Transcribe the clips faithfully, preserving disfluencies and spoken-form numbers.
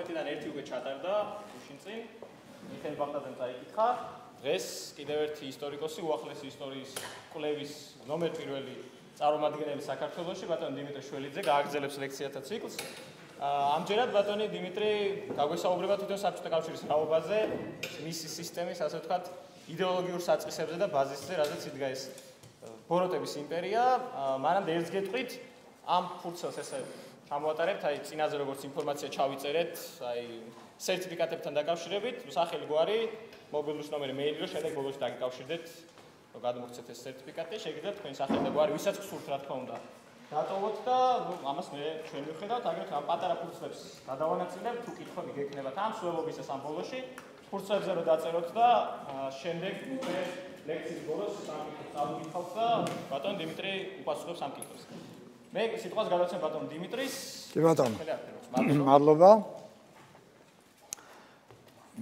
თერთმეტიდან ერთი უკვე ჩატარდა გუშინ წინ. მიხეილ ბაღდაძემ წაიკითხა. დღეს კიდევ ერთი ისტორიკოსი, უახლესი ისტორიის კვლევის ნომერ პირველი წარმომადგენელი საქართველოში, ბატონი დიმიტრი შველიძე გააგრძელებს ლექციათა ციკლს. ამჯერად ბატონი დიმიტრი გაგვესაუბრება თვითონ საბჭოთა კავშირის რაობაზე, მისი სისტემის, ასე ვთქვათ, იდეოლოგიურ საწყისებზე და ბაზისზე, რადგან იდგა ეს ბოროტების იმპერია. მანამდე ერთს გეტყვით, ამ ფურცელს ესე ჩამოვატარებთ, აი წინაზე როგორც ინფორმაცია ჩავიწერეთ, აი სერტიფიკატებთან დაკავშირებით, სახელი გვარი, მობილუს ნომერი, მეილი, რომ შემდეგ ბოლოს დაგიკავშირდეთ, რომ გადმოგცეთ ეს სერტიფიკატი, შეგიძლიათ თქვენი სახელი და გვარი, ვისაც გსურთ, რა თქმა უნდა. დატოვოთ და ამას მე ჩვენ ვიხედავთ, აგრეთვე ამ პატარა ფურცლებს გადავანაწილებთ, თუ კითხვები გექნებათ ამ სველობისას ამ ბოლოში, ფურცლებზე რომ დაწეროთ და შემდეგ უკვე ლექციის ბოლოს სამკითხოს წავიკითხავთ და ბატონ დიმიტრი უპასუხებს ამ კითხვებს. მე სიტყვას გადავცემ ბატონ დიმიტრის. კი ბატონო. მადლობა.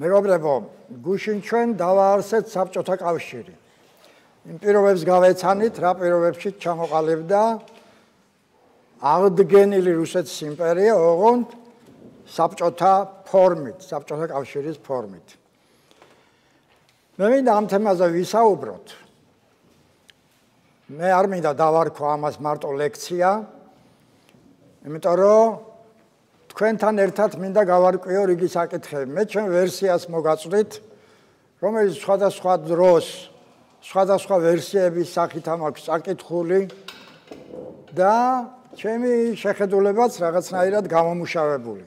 მეგობრებო, გუშინ ჩვენ დავაარსეთ საბჭოთა კავშირი. იმ პირობებს გავეცანით, რა პირობებში ჩამოყალიბდა აღდგენილი რუსეთის იმპერია, ოღონდ საბჭოთა ფორმით, საბჭოთა კავშირის ფორმით. მე მინდა ამ თემაზე ვისაუბროთ. მე არ მინდა დავარქვა ამას მარტო ლექცია, იმიტომ რომ თქვენთან ერთად მინდა გავარკვიო რიგი საკითხები. მე ჩვენ ვერსიას მოგაწვდით, რომელიც სხვადასხვა დროს, სხვადასხვა ვერსიების სახით ამაქვს საკითხული და ჩემი შეხედულებაც რაღაცნაირად გამომუშავებული.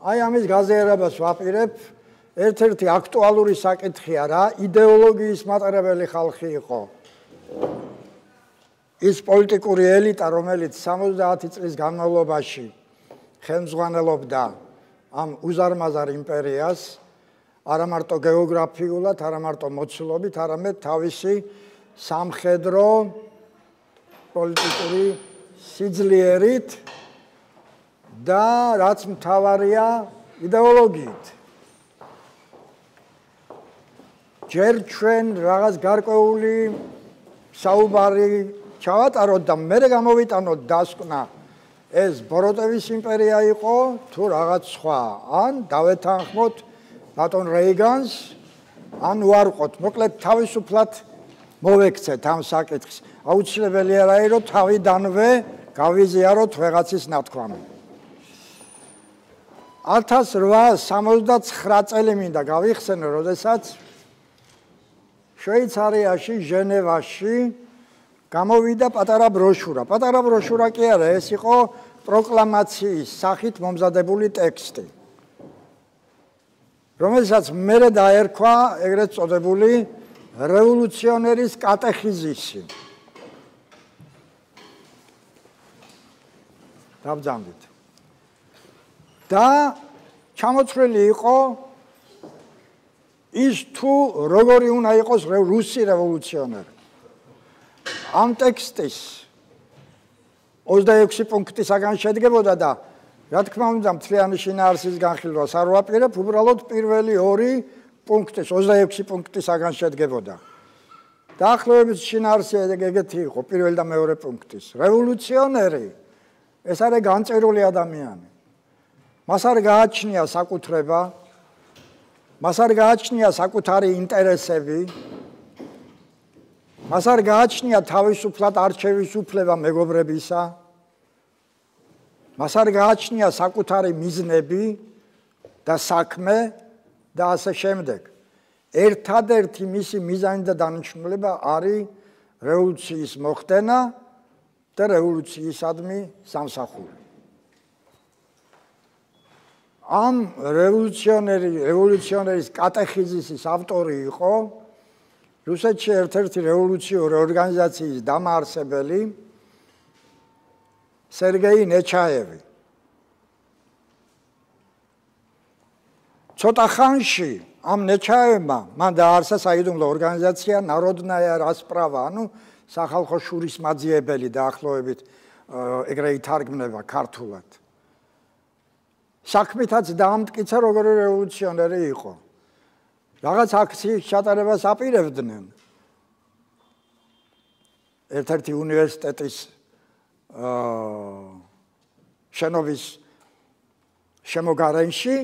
აი ამის გაზიარებას ვაპირებ. ერთ-ერთი აქტუალური საკითხია რა, იდეოლოგიის მატარებელი ხალხი იყო. ის პოლიტიკური ელიტა, რომელიც სამოცდაათი წლის განმავლობაში ხელმძღვანელობდა ამ უზარმაზარ იმპერიას, არა მარტო გეოგრაფიულად, არა მარტო მოცულობით, არამედ თავისი სამხედრო პოლიტიკური სიძლიერით და რაც მთავარია იდეოლოგიით. ჯერ ჩვენ რაღაც გარკვეული საუბარი ჩავატაროთ და მერე გამოვიტანოთ დასკვნა ეს ბოროტების იმპერია იყო თუ რაღაც სხვა, ან დავეთანხმოთ ბატონ რეიგანს, ან უარყოთ. მოკლედ თავისუფლად მოვექცეთ ამ საკითხს. აუცილებელია რა იყო თავიდანვე გავიზიაროთ ვეღაცის ნათქვამი. ათას რვაასი სამოცდაცხრა წელი მინდა გავიხსენო, როდესაც შვეიცარიაში, ჟენევაში გამოვიდა პატარა ბროშურა. პატარა ბროშურა კი არა, ეს იყო პროკლამაციის სახით მომზადებული ტექსტი, რომელსაც მერე დაერქვა ეგრეთ წოდებული რევოლუციონერის კატეხიზისი. დავძამდით. და ჩამოწვრილი იყო ის თუ როგორი უნდა იყოს რუსი რევოლუციონერი. ამ ტექსტის ოცდაექვსი პუნქტისაგან შედგებოდა და რა თქმა უნდა მთლიანი შინაარსის განხილვას არ ვაპირებ, უბრალოდ პირველი ორი პუნქტის ოცდაექვსი პუნქტისაგან შედგებოდა. დაახლოებით შინაარსი ეგეთი იყო, პირველი და მეორე პუნქტის. რევოლუციონერი ეს არის განწერული ადამიანი. მას არ გააჩნია საკუთრება, მას არ გააჩნია საკუთარი ინტერესები, მას არ გააჩნია თავისუფლად არჩევის უფლება მეგობრებისა, მას არ გააჩნია საკუთარი მიზნები და საქმე და ასე შემდეგ. ერთადერთი მისი მიზანი და დანიშნულება არის რევოლუციის მოხდენა და რევოლუციისადმი სამსახური. ამ რევოლუციონერი, რევოლუციონერის კატეხიზისის ავტორი იყო რუსეთში ერთ-ერთი რევოლუციური ორგანიზაციის დამაარსებელი სერგეი ნეჩაევი. ცოტა ხანში ამ ნეჩაევმა მან დააარსა საიდუმლო ორგანიზაცია ნაროდნაია რასპრავა, ანუ სახალხო შურისმაძიებელი დაახლოებით ეგრე ითარგმნება ქართულად. საქმითაც დაამტკიცა როგორი რევოლუციონერი იყო. რაღაც აქციის ჩატარებას აპირებდნენ. ერთ-ერთი უნივერსიტეტის შენობის შემოგარენში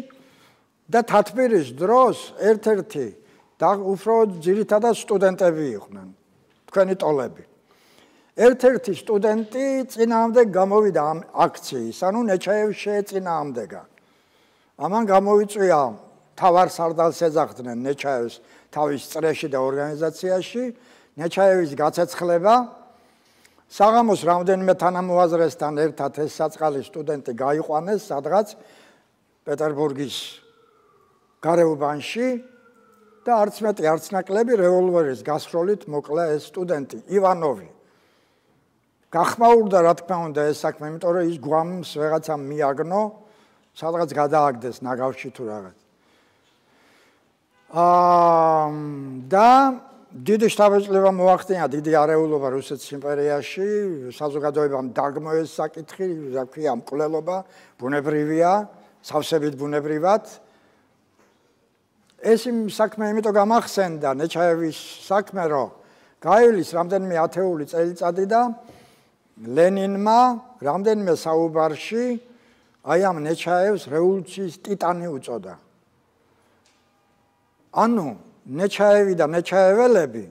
და თათბირის დროს ერთ-ერთი და უფრო ძირითადად სტუდენტები იყვნენ, თქვენი ტოლები. ერთ-ერთი სტუდენტი წინააღმდეგ გამოვიდა ამ აქციის, ანუ ნეჩაევს შეეწინააღმდეგა. ამან გამოიწვია თავარ სარდალს ეძახდნენ ნეჩაევს თავის წრეში და ორგანიზაციაში, ნეჩაევის გაცეცხლება, საღამოს რამდენიმე თანამოაზრესთან ერთად ეს საწყალი სტუდენტი გაიყვანეს სადღაც პეტერბურგის გარეუბანში და არც მეტი არც ნაკლები რევოლვერის გასროლით მოკლა ეს სტუდენტი ივანოვი. გახმაურდა რა თქმა უნდა ეს საქმე, იმიტომ რომ ის გვამს ვეღაცამ მიაგნო, სადღაც გადააგდეს ნაგავში თუ რაღაც. აა და დიდი შთაბეჭდილება მოახდინა დიდი არეულობა რუსეთის იმპერიაში, საზოგადოებამ დაგმო ეს საკითხი, რა ქვია, მკვლელობა ბუნებრივია, სავსებით ბუნებრივად. ეს იმ საქმე იმიტომ გამახსენდა ნეჩაევის საქმე, რომ გაივლის რამდენიმე ათეული წელიწადი და ლენინმა რამდენიმე საუბარში აი ამ ნეჩაევს რევოლუციის ტიტანი უწოდა. ანუ ნეჩაევი და ნეჩაეველები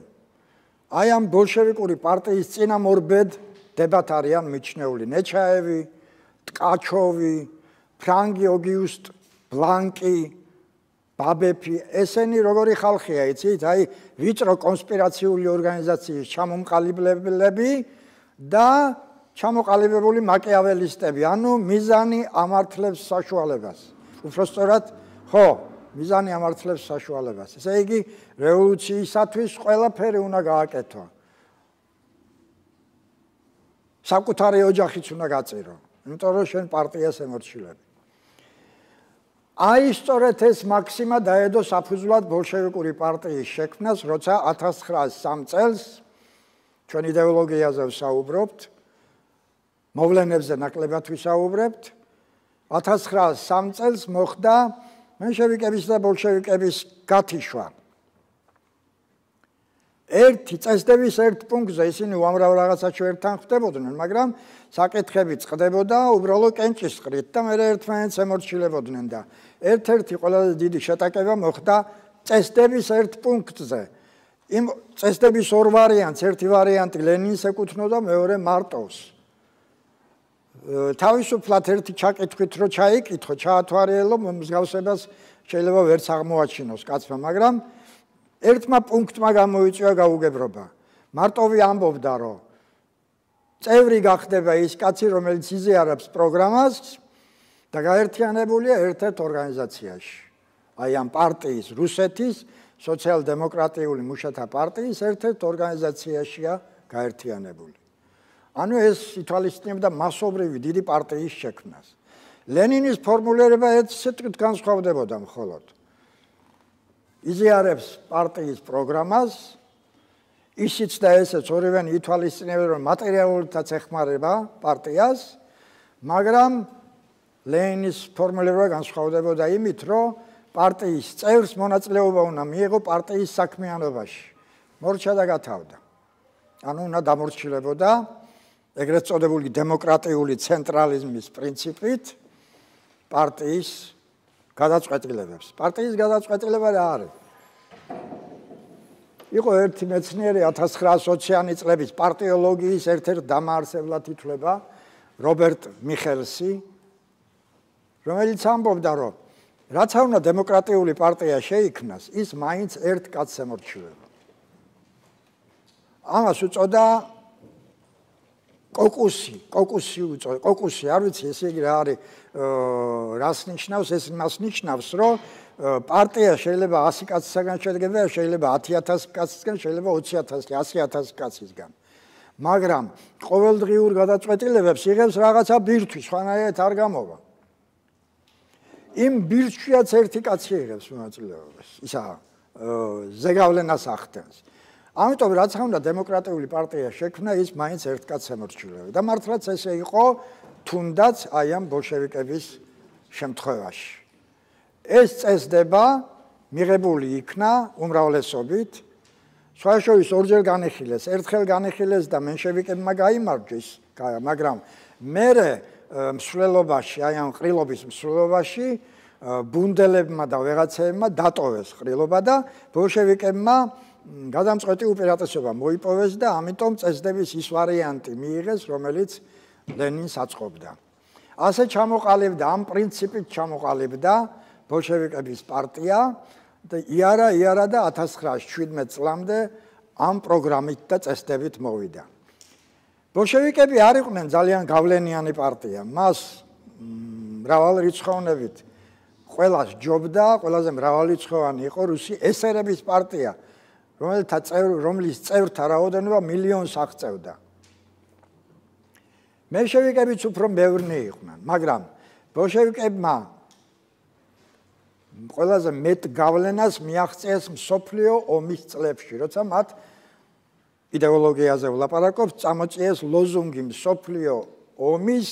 აი ამ ბოლშევიკური პარტიის წინამორბედ დებათ არიან მიჩნეული. ნეჩაევი, ტკაჩოვი, ფრანგი ოგიუსტ ბლანკი, ბაბეფი, ესენი როგორი ხალხია, იცით? აი ვიწრო კონსპირაციული ორგანიზაციის ჩამომყალიბლები და ჩამოყალიბებული მაკიაველისტები, ანუ მიზანი ამართლებს საშუალებას. უბრალოდ ხო, მიზანი ამართლებს საშუალებას. ესე იგი, რევოლუციისათვის ყველაფერი უნდა გააკეთო. საკუთარი ოჯახიც უნდა გაწირო, იმიტომ რომ შენ პარტიას ემორჩილები. აი სწორედ ეს მაქსიმა დაედო საფუძვლად ბოლშევიკური პარტიის შექმნას, როცა ათას ცხრაას სამ წელს ჩვენ იდეოლოგიაზე ვსაუბრობთ, მოვლენებზე ნაკლებად ვისაუბრებთ. ათას ცხრაას სამ წელს მოხდა მენშევიკების და ბოლშევიკების გათიშვა. ერთი წესდების ერთ პუნქტზე ისინი უამრავ რაღაცაში ერთთან ხვდებოდნენ, მაგრამ საკითხები წყდებოდა უბრალოდ კენჭისყრით და მე ერთმანეთს ემორჩილებოდნენ და ერთ-ერთი ყველაზე დიდი შეტაკება მოხდა წესდების ერთ პუნქტზე. იმ წესდების ორ ვარიანტს, ერთი ვარიანტი ლენინს ეკუთვნოდა, მეორე მარტოვს. თავისუფლად ერთი ჩაკითხვით რო ჩაიკითხო, ჩაათვალიერო, მსგავსებას შეიძლება ვერც აღმოაჩინოს კაცმა, მაგრამ ერთმა პუნქტმა გამოიწვია გაუგებრობა. მარტოვი ამბობდა, რომ წევრი გახდება ის კაცი, რომელიც იზიარებს პროგრამას და გაერთიანებულია ერთ-ერთ ორგანიზაციაში. აი ამ პარტიის, რუსეთის სოციალ-დემოკრატიული მუშათა პარტიის ერთ-ერთ ორგანიზაციაშია გაერთიანებული. ანუ ეს ითვალისწინებდა მასობრივი დიდი პარტიის შექმნას. ლენინის ფორმულირება ერთ სიტყვით განსხვავდებოდა მხოლოდ. იზიარებს პარტიის პროგრამას, ისიც და ესეც ორივენი ითვალისწინებენ, რომ მატერიალურითაც ეხმარება პარტიას, მაგრამ ლენინის ფორმულირება განსხვავდებოდა იმით, რომ პარტიის წევრს მონაწილეობა უნდა მიიღო პარტიის საქმიანობაში. მორჩა და გათავდა. ანუ უნდა დამორჩილებოდა ეგრეთ წოდებული დემოკრატიული ცენტრალიზმის პრინციპით პარტიის გადაწყვეტილებებს. პარტიის გადაწყვეტილება რა არის? იყო ერთი მეცნიერი ათას ცხრაას ოციანი წლების პარტიოლოგიის ერთ-ერთ დამაარსებლად ითვლება რობერტ მიხელსი, რომელიც ამბობდა, რომ რაც არ უნდა დემოკრატიული პარტია შეიქმნას, ის მაინც ერთ კაცს ემორჩილება. ამას უწოდა კოკუსი, კოკუსი უწოდა, კოკუსი, არ ვიცი ესე იგი რა არის, რას ნიშნავს, ეს მას ნიშნავს, რომ პარტია შეიძლება ასი კაცისგან შედგება, შეიძლება ათი ათასი კაცისგან, შეიძლება ოცი ათასი, ასი ათასი კაცისგან. მაგრამ ყოველდღიურ გადაწყვეტილებებს იღებს რაღაცა ბირთვი, სხვანაირად არ გამოვა. იმ ბირთვიაც ერთი კაცი იღებს მონაწილეობას, ისა ზეგავლენას ახდენს. ამიტომ რაც უნდა დემოკრატიული პარტია შექმნა, ის მაინც ერთ კაცს ემორჩილება. და მართლაც ესე იყო, თუნდაც აი ამ ბოლშევიკების შემთხვევაში. ეს წესდება მიღებული იქნა უმრავლესობით, სხვაშორის ორჯერ განიხილეს, ერთხელ განიხილეს და მენშევიკებმა გაიმარჯვეს, მაგრამ მერე მსვლელობაში, აი ამ ყრილობის მსვლელობაში ბუნდელებმა და ვეღაცებმა დატოვეს ყრილობა და ბოლშევიკებმა გადამწყვეტი უპირატესობა მოიპოვეს და ამიტომ წესდების ის ვარიანტი მიიღეს, რომელიც ლენინს აწყობდა. ასე ჩამოყალიბდა, ამ პრინციპით ჩამოყალიბდა ბოლშევიკების პარტია და იარა იარა და ათას ცხრაასი შვიდმეტ წლამდე ამ პროგრამით და წესდებით მოვიდა. ბოლშევიკები არ იყვნენ ძალიან გავლენიანი პარტია. მას მრავალრიცხოვნებით ყველას ჯობდა, ყველაზე მრავალრიცხოვანი იყო რუსი ესერების პარტია, რომელთა წევრ, რომლის წევრთა რაოდენობა მილიონს აღწევდა. მენშევიკებიც უფრო ბევრნი იყვნენ, მაგრამ ბოლშევიკებმა ყველაზე მეტ გავლენას მიაღწიეს მსოფლიო ომის წლებში, როცა მათ იდეოლოგიაზე ვლაპარაკობთ, წამოწიეს ლოზუნგი მსოფლიო ომის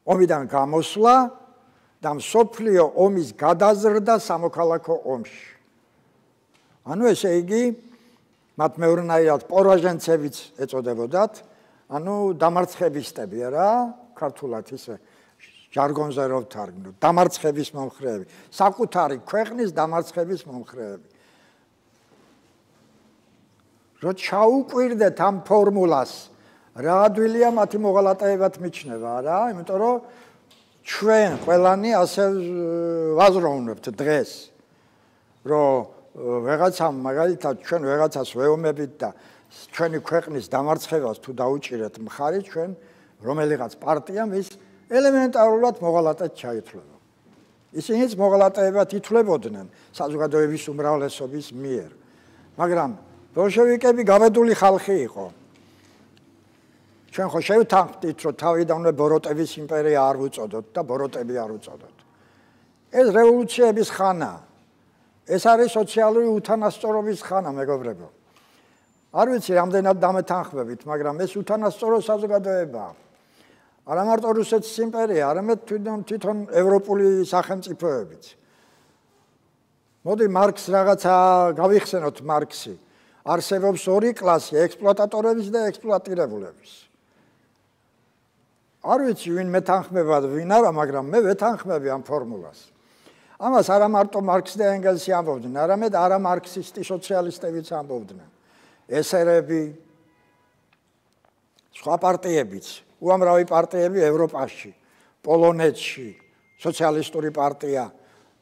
ომიდან გამოსვლა და მსოფლიო ომის გადაზრდა სამოქალაქო ომში. ანუ ესე იგი, მათ მეორნაირად პორაჟენცებიც ეწოდებოდათ, ანუ დამარცხებისტები რა, ქართულად ისე ჟარგონზე რო ვთარგმნოთ, დამარცხების მომხრეები, საკუთარი ქვეყნის დამარცხების მომხრეები. რო ჩაუკვირდეთ ამ ფორმულას, რა ადვილია მათი მოღალატეებად მიჩნევა რა, იმიტომ რომ ჩვენ ყველანი ასე ვაზროვნებთ დღეს, რომ ვეღაცამ მაგალითად ჩვენ ვეღაცას ვეომებით და ჩვენი ქვეყნის დამარცხებას თუ დაუჭირეთ მხარი, ჩვენ რომელიღაც პარტიამ ის ელემენტარულად მოღალატედ ჩაითვლება. ისინიც მოღალატეებად ითვლებოდნენ საზოგადოების უმრავლესობის მიერ. მაგრამ ბოლშევიკები გაბედული ხალხი იყო. ჩვენ ხო შევთანხმდით, რომ თავიდანვე ბოროტების იმპერია არ ვუწოდოთ და ბოროტები არ ვუწოდოთ. ეს რევოლუციების ხანაა. ეს არის სოციალური უთანასწორობის ხანა, მეგობრებო. არ ვიცი, რამდენად დამეთანხმებით, მაგრამ ეს უთანასწორო საზოგადოებაა. არა მარტო რუსეთის იმპერია, არამედ თვითონ თვითონ ევროპული სახელმწიფოებიც. მოდი მარქსს რაღაცა გავიხსენოთ მარქსი. არსებობს ორი კლასი, ექსპლუატატორების და ექსპლუატირებულების. არ ვიცი, ვინ მეთანხმება და ვინ არა, მაგრამ მე ვეთანხმები ამ ფორმულას. ამას არა მარტო მარქსი და ენგელსი ამბობდნენ, არამედ არა მარქსისტი სოციალისტებიც ამბობდნენ. ესერები, სხვა პარტიებიც, უამრავი პარტიები ევროპაში, პოლონეთში, სოციალისტური პარტია,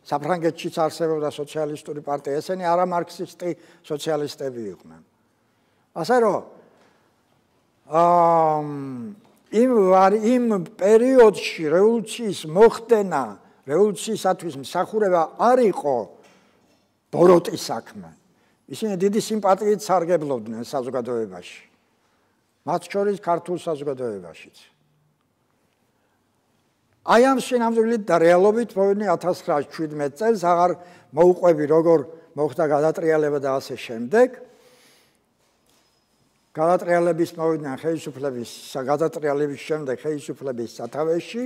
საფრანგეთშიც არსებობდა სოციალისტური პარტია, ესენი არა მარქსისტი სოციალისტები იყვნენ. ასე რომ იმ იმ პერიოდში რევოლუციის მოხდენა, რევოლუციისათვის მსახურება არ იყო ბოროტის საქმე. ისინი დიდი სიმპათიით სარგებლობდნენ საზოგადოებაში. მათ შორის ქართულ საზოგადოებაშიც. აი ამ შინამძღვრით და რეალობით მოვიდნენ ათას ცხრაასი შვიდმეტ წელს, აღარ მოუყვები როგორ მოხდა გადატრიალება და ასე შემდეგ. გადატრიალების მოვიდნენ ხელისუფლების, გადატრიალების შემდეგ ხელისუფლების სათავეში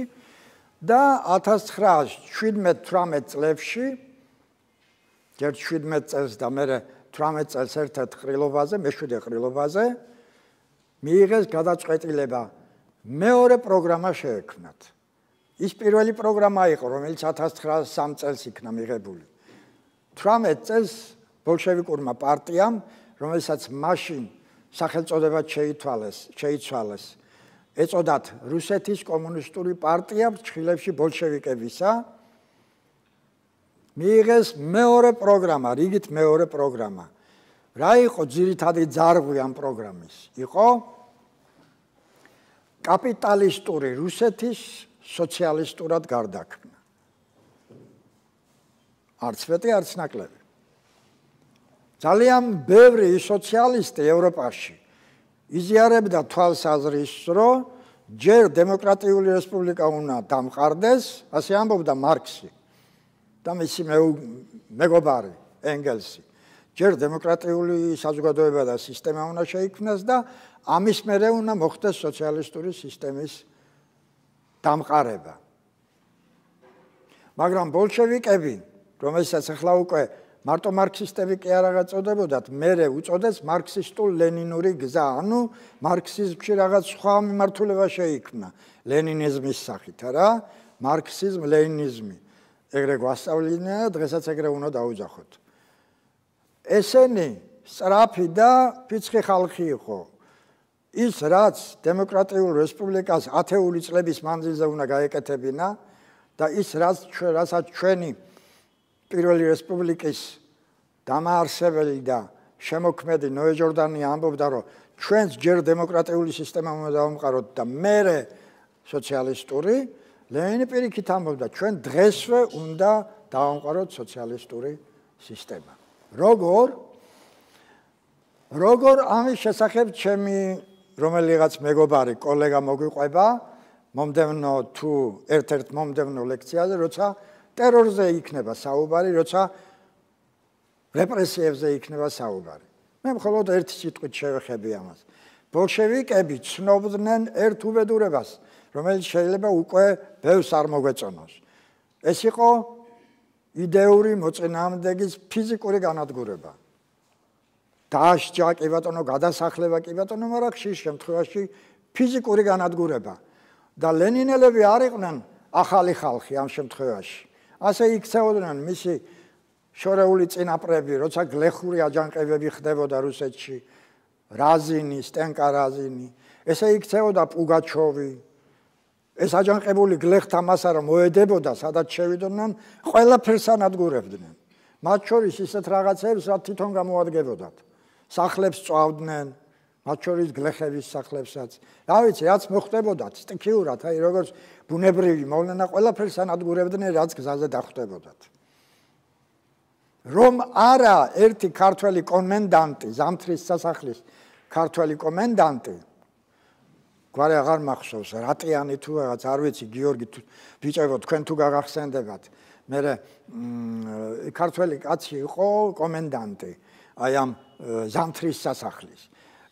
და ათას ცხრაასი შვიდმეტ თვრამეტ წლებში, ჯერ შვიდმეტ წელს და მერე თვრამეტ წელს ერთ-ერთ ყრილობაზე, მეშვიდე ყრილობაზე მიიღეს გადაწყვეტილება მეორე პროგრამა შეექმნათ. ის პირველი პროგრამა იყო, რომელიც ათას ცხრაასი სამი წელს იქნა მიღებული. თვრამეტ წელს ბოლშევიკურმა პარტიამ, რომელსაც მაშინ სახელწოდებად შეითვალეს, შეიცვალეს, ეწოდათ რუსეთის კომუნისტური პარტია ფრჩხილებში ბოლშევიკებისა, მიიღეს მეორე პროგრამა, რიგით მეორე პროგრამა. რა იყო ძირითადი ძარღვი ამ პროგრამის? იყო კაპიტალისტური რუსეთის სოციალისტურად გარდაქმნა. არც მეტი, არც ნაკლები. ძალიან ბევრი სოციალისტი ევროპაში იზიარებდა თვალსაზრისს, რომ ჯერ დემოკრატიული რესპუბლიკა უნდა დამყარდეს, ასე ამბობდა მარქსი და მისი მეგობარი ენგელსი. ჯერ დემოკრატიული საზოგადოება და სისტემა უნდა შეიქმნას და ამის მერე უნდა მოხდეს სოციალისტური სისტემის დამყარება. მაგრამ ბოლშევიკები, რომელსაც ახლა უკვე მარტო მარქსისტები კი არ აღაწოდებოდათ, მერე უწოდეს მარქსისტულ-ლენინური გზა, ანუ მარქსიზმში რაღაც სხვა მიმართულება შეიქმნა ლენინიზმის სახით, რა, მარქსიზმ, ლენინიზმი. ეგრე გვასწავლინე და დღესაც ეგრე უნდა დაუძახოთ. ესენი სწრაფი და ფიცხი ხალხი იყო. ის რაც დემოკრატიულ რესპუბლიკას ათეული წლების მანძილზე უნდა გაეკეთებინა და ის რაც რასაც ჩვენი პირველი რესპუბლიკის დამაარსებელი და შემოქმედი ნოე ჯორდანი ამბობდა, რომ ჩვენს ჯერ დემოკრატიული სისტემა უნდა დავამყაროთ და მერე სოციალისტური, ლენინი პირიქით ამბობდა, ჩვენ დღესვე უნდა დავამყაროთ სოციალისტური სისტემა. როგორ? როგორ ამის შესახებ ჩემი რომელიღაც მეგობარი კოლეგა მოგვიყვება მომდევნო თუ ერთ-ერთ მომდევნო ლექციაზე, როცა ტერორზე იქნება საუბარი, როცა რეპრესიებზე იქნება საუბარი. მე მხოლოდ ერთი სიტყვით შევეხები ამას. ბოლშევიკები ცნობდნენ ერთ უბედურებას, რომელიც შეიძლება უკვე ბევრს არ მოგვეწონოს. ეს იყო იდეური მოწინააღმდეგის ფიზიკური განადგურება. დააშჯა კი ბატონო, გადასახლება კი ბატონო, მაგრამ ხშირ შემთხვევაში ფიზიკური განადგურება. და ლენინელები არ იყვნენ ახალი ხალხი ამ შემთხვევაში. ასე იქცეოდნენ მისი შორეული წინაპრები, როცა გლეხური აჯანყებები ხდებოდა რუსეთში, რაზინი, სტენკა რაზინი, ესე იქცეოდა პუგაჩოვი. ეს აჯანყებული გლეხთა მასა რომ მოედებოდა, სადაც შევიდნენ, ყველაფერს ანადგურებდნენ. მათ შორის ისეთ რაღაცებს, რაც თვითონ გამოადგებოდათ. სახლებს წვავდნენ, მათ შორის გლეხების სახლებსაც. რა ვიცი, რაც მოხდებოდათ, სტიქიურად, აი როგორც ბუნებრივი მოვლენა, ყველაფერს ანადგურებდნენ, რაც გზაზე დახვდებოდათ. რომ არა ერთი ქართველი კომენდანტი, ზამთრის სასახლის ქართველი კომენდანტი, გვარი აღარ მახსოვს, რატიანი თუ რაღაც, არ ვიცი, გიორგი ბიჭებო, თქვენ თუ გაგახსენდებათ. მე ქართველი კაცი იყო კომენდანტი, აი ამ ზამთრის სასახლის.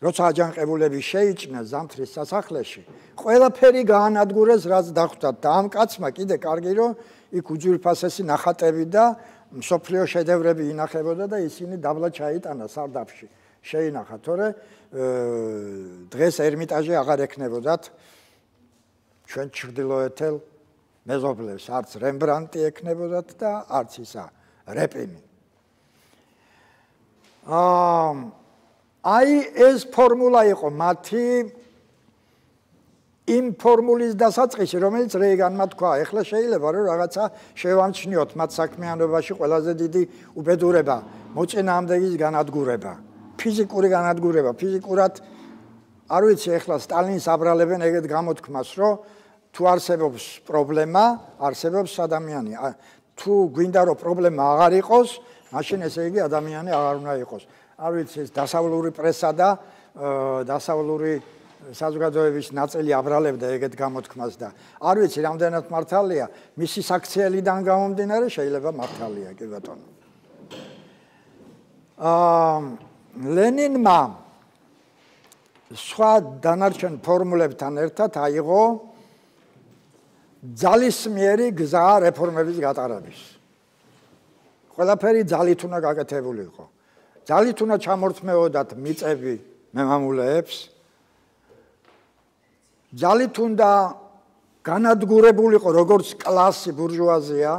როცა აჯანყებულები შეიჭრნენ ზამთრის სასახლეში, ყველაფერი გაანადგურეს, რაც დახვდათ და ამ კაცმა კიდე კარგი რომ იქ უძვირფასესი ნახატები და მსოფლიო შედევრები ინახებოდა და ისინი დაბლა ჩაიტანა სარდაფში. შეინახა, თორე დღეს ერმიტაჟი აღარ ექნებოდათ ჩვენ ჩრდილოეთელ მეზობლებს, არც რემბრანტი ექნებოდათ და არც ისა რეპინი. აი ეს ფორმულა იყო მათი იმ ფორმულის დასაწყისი, რომელიც რეიგანმა თქვა, ეხლა შეიძლება რომ რაღაცა შევამჩნიოთ მათ საქმიანობაში ყველაზე დიდი უბედურება, მოწინააღმდეგის განადგურება, ფიზიკური განადგურება, ფიზიკურად არ ვიცი, ეხლა სტალინს აბრალებენ ეგეთ გამოთქმას, რომ თუ არსებობს პრობლემა, არსებობს ადამიანი. თუ გვინდა რომ პრობლემა აღარ იყოს, მაშინ ესე იგი ადამიანი აღარ უნდა იყოს. არ ვიცი, ეს დასავლური პრესა და დასავლური საზოგადოების ნაწილი აბრალებდა ეგეთ გამოთქმას და არ ვიცი, რამდენად მართალია, მისი საქციელიდან გამომდინარე შეიძლება მართალია, კი ბატონო. აა ლენინმა სხვა დანარჩენ ფორმულებთან ერთად აიღო ძალისმიერი გზა რეფორმების გატარების. ყველაფერი ძალით უნდა გაკეთებული იყო. ძალით უნდა ჩამორთმეოდათ მიწები მემამულეებს. ძალით უნდა განადგურებულიყო როგორც კლასი ბურჟუაზია.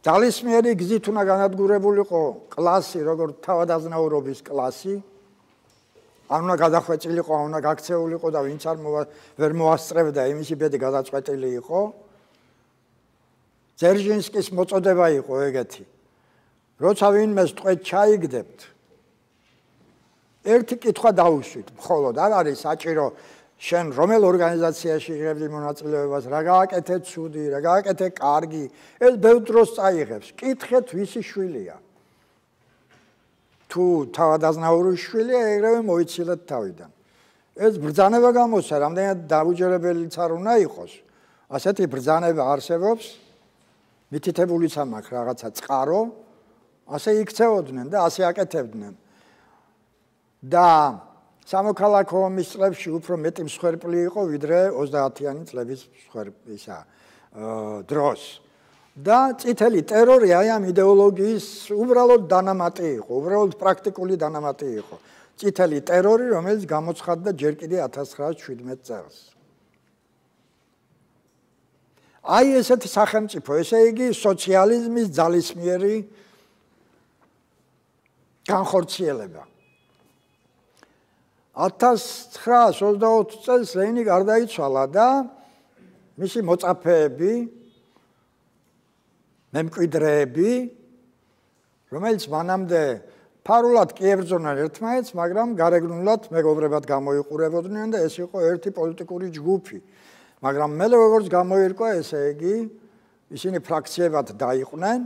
ძალისმიერი გზით უნდა განადგურებულიყო კლასი როგორც თავადაზნაურობის კლასი. არ უნდა გადახვეწილიყო, არ უნდა გაქცეულიყო და ვინც არ ვერ მოასწრებდა, იმისი ბედი გადაწყვეტილი იყო. ძერჟინსკის მოწოდება იყო ეგეთი. როცა ვინმეს ტყვედ ჩაიგდებთ, ერთი კითხვა დაუშვით, მხოლოდ არ არის საჭირო შენ რომელ ორგანიზაციაში იღებდი მონაწილეობას, რა გააკეთე ცუდი, რა გააკეთე კარგი, ეს ბევრ დროს წაიღებს. კითხეთ ვისი შვილია. თუ თავადაზნაურის შვილია, ეგრევე მოიცილეთ თავიდან. ეს ბრძანება გამოსცა, რამდენად დაუჯერებელიც არ უნდა იყოს. ასეთი ბრძანება არსებობს, მითითებულიც ამაქვს რაღაცა წყარო, ასე იქცეოდნენ და ასე აკეთებდნენ. და სამოქალაქო ომის წლებში უფრო მეტი მსხვერპლი იყო, ვიდრე ოცდაათიანი წლების ისა დროს. და წითელი ტერორი აი ამ იდეოლოგიის უბრალოდ დანამატი იყო, უბრალოდ პრაქტიკული დანამატი იყო. წითელი ტერორი, რომელიც გამოცხადდა ჯერ კიდე ათას ცხრაასი შვიდმეტ წელს. აი ესეთი სახელმწიფო, ესე იგი სოციალიზმის ძალისმიერი განხორციელება. ათას ცხრაასი ოცდაოთხ წელს ლენინი გარდაიცვალა და მისი მოწაფეები, მემკვიდრეები, რომელიც მანამდე ფარულად კი ებრძოდნენ ერთმანეთს, მაგრამ გარეგნულად მეგობრებად გამოიყურებოდნენ და ეს იყო ერთი პოლიტიკური ჯგუფი. მაგრამ მალე როგორც გამოირკვა, ესე იგი, ისინი ფრაქციებად დაიყვნენ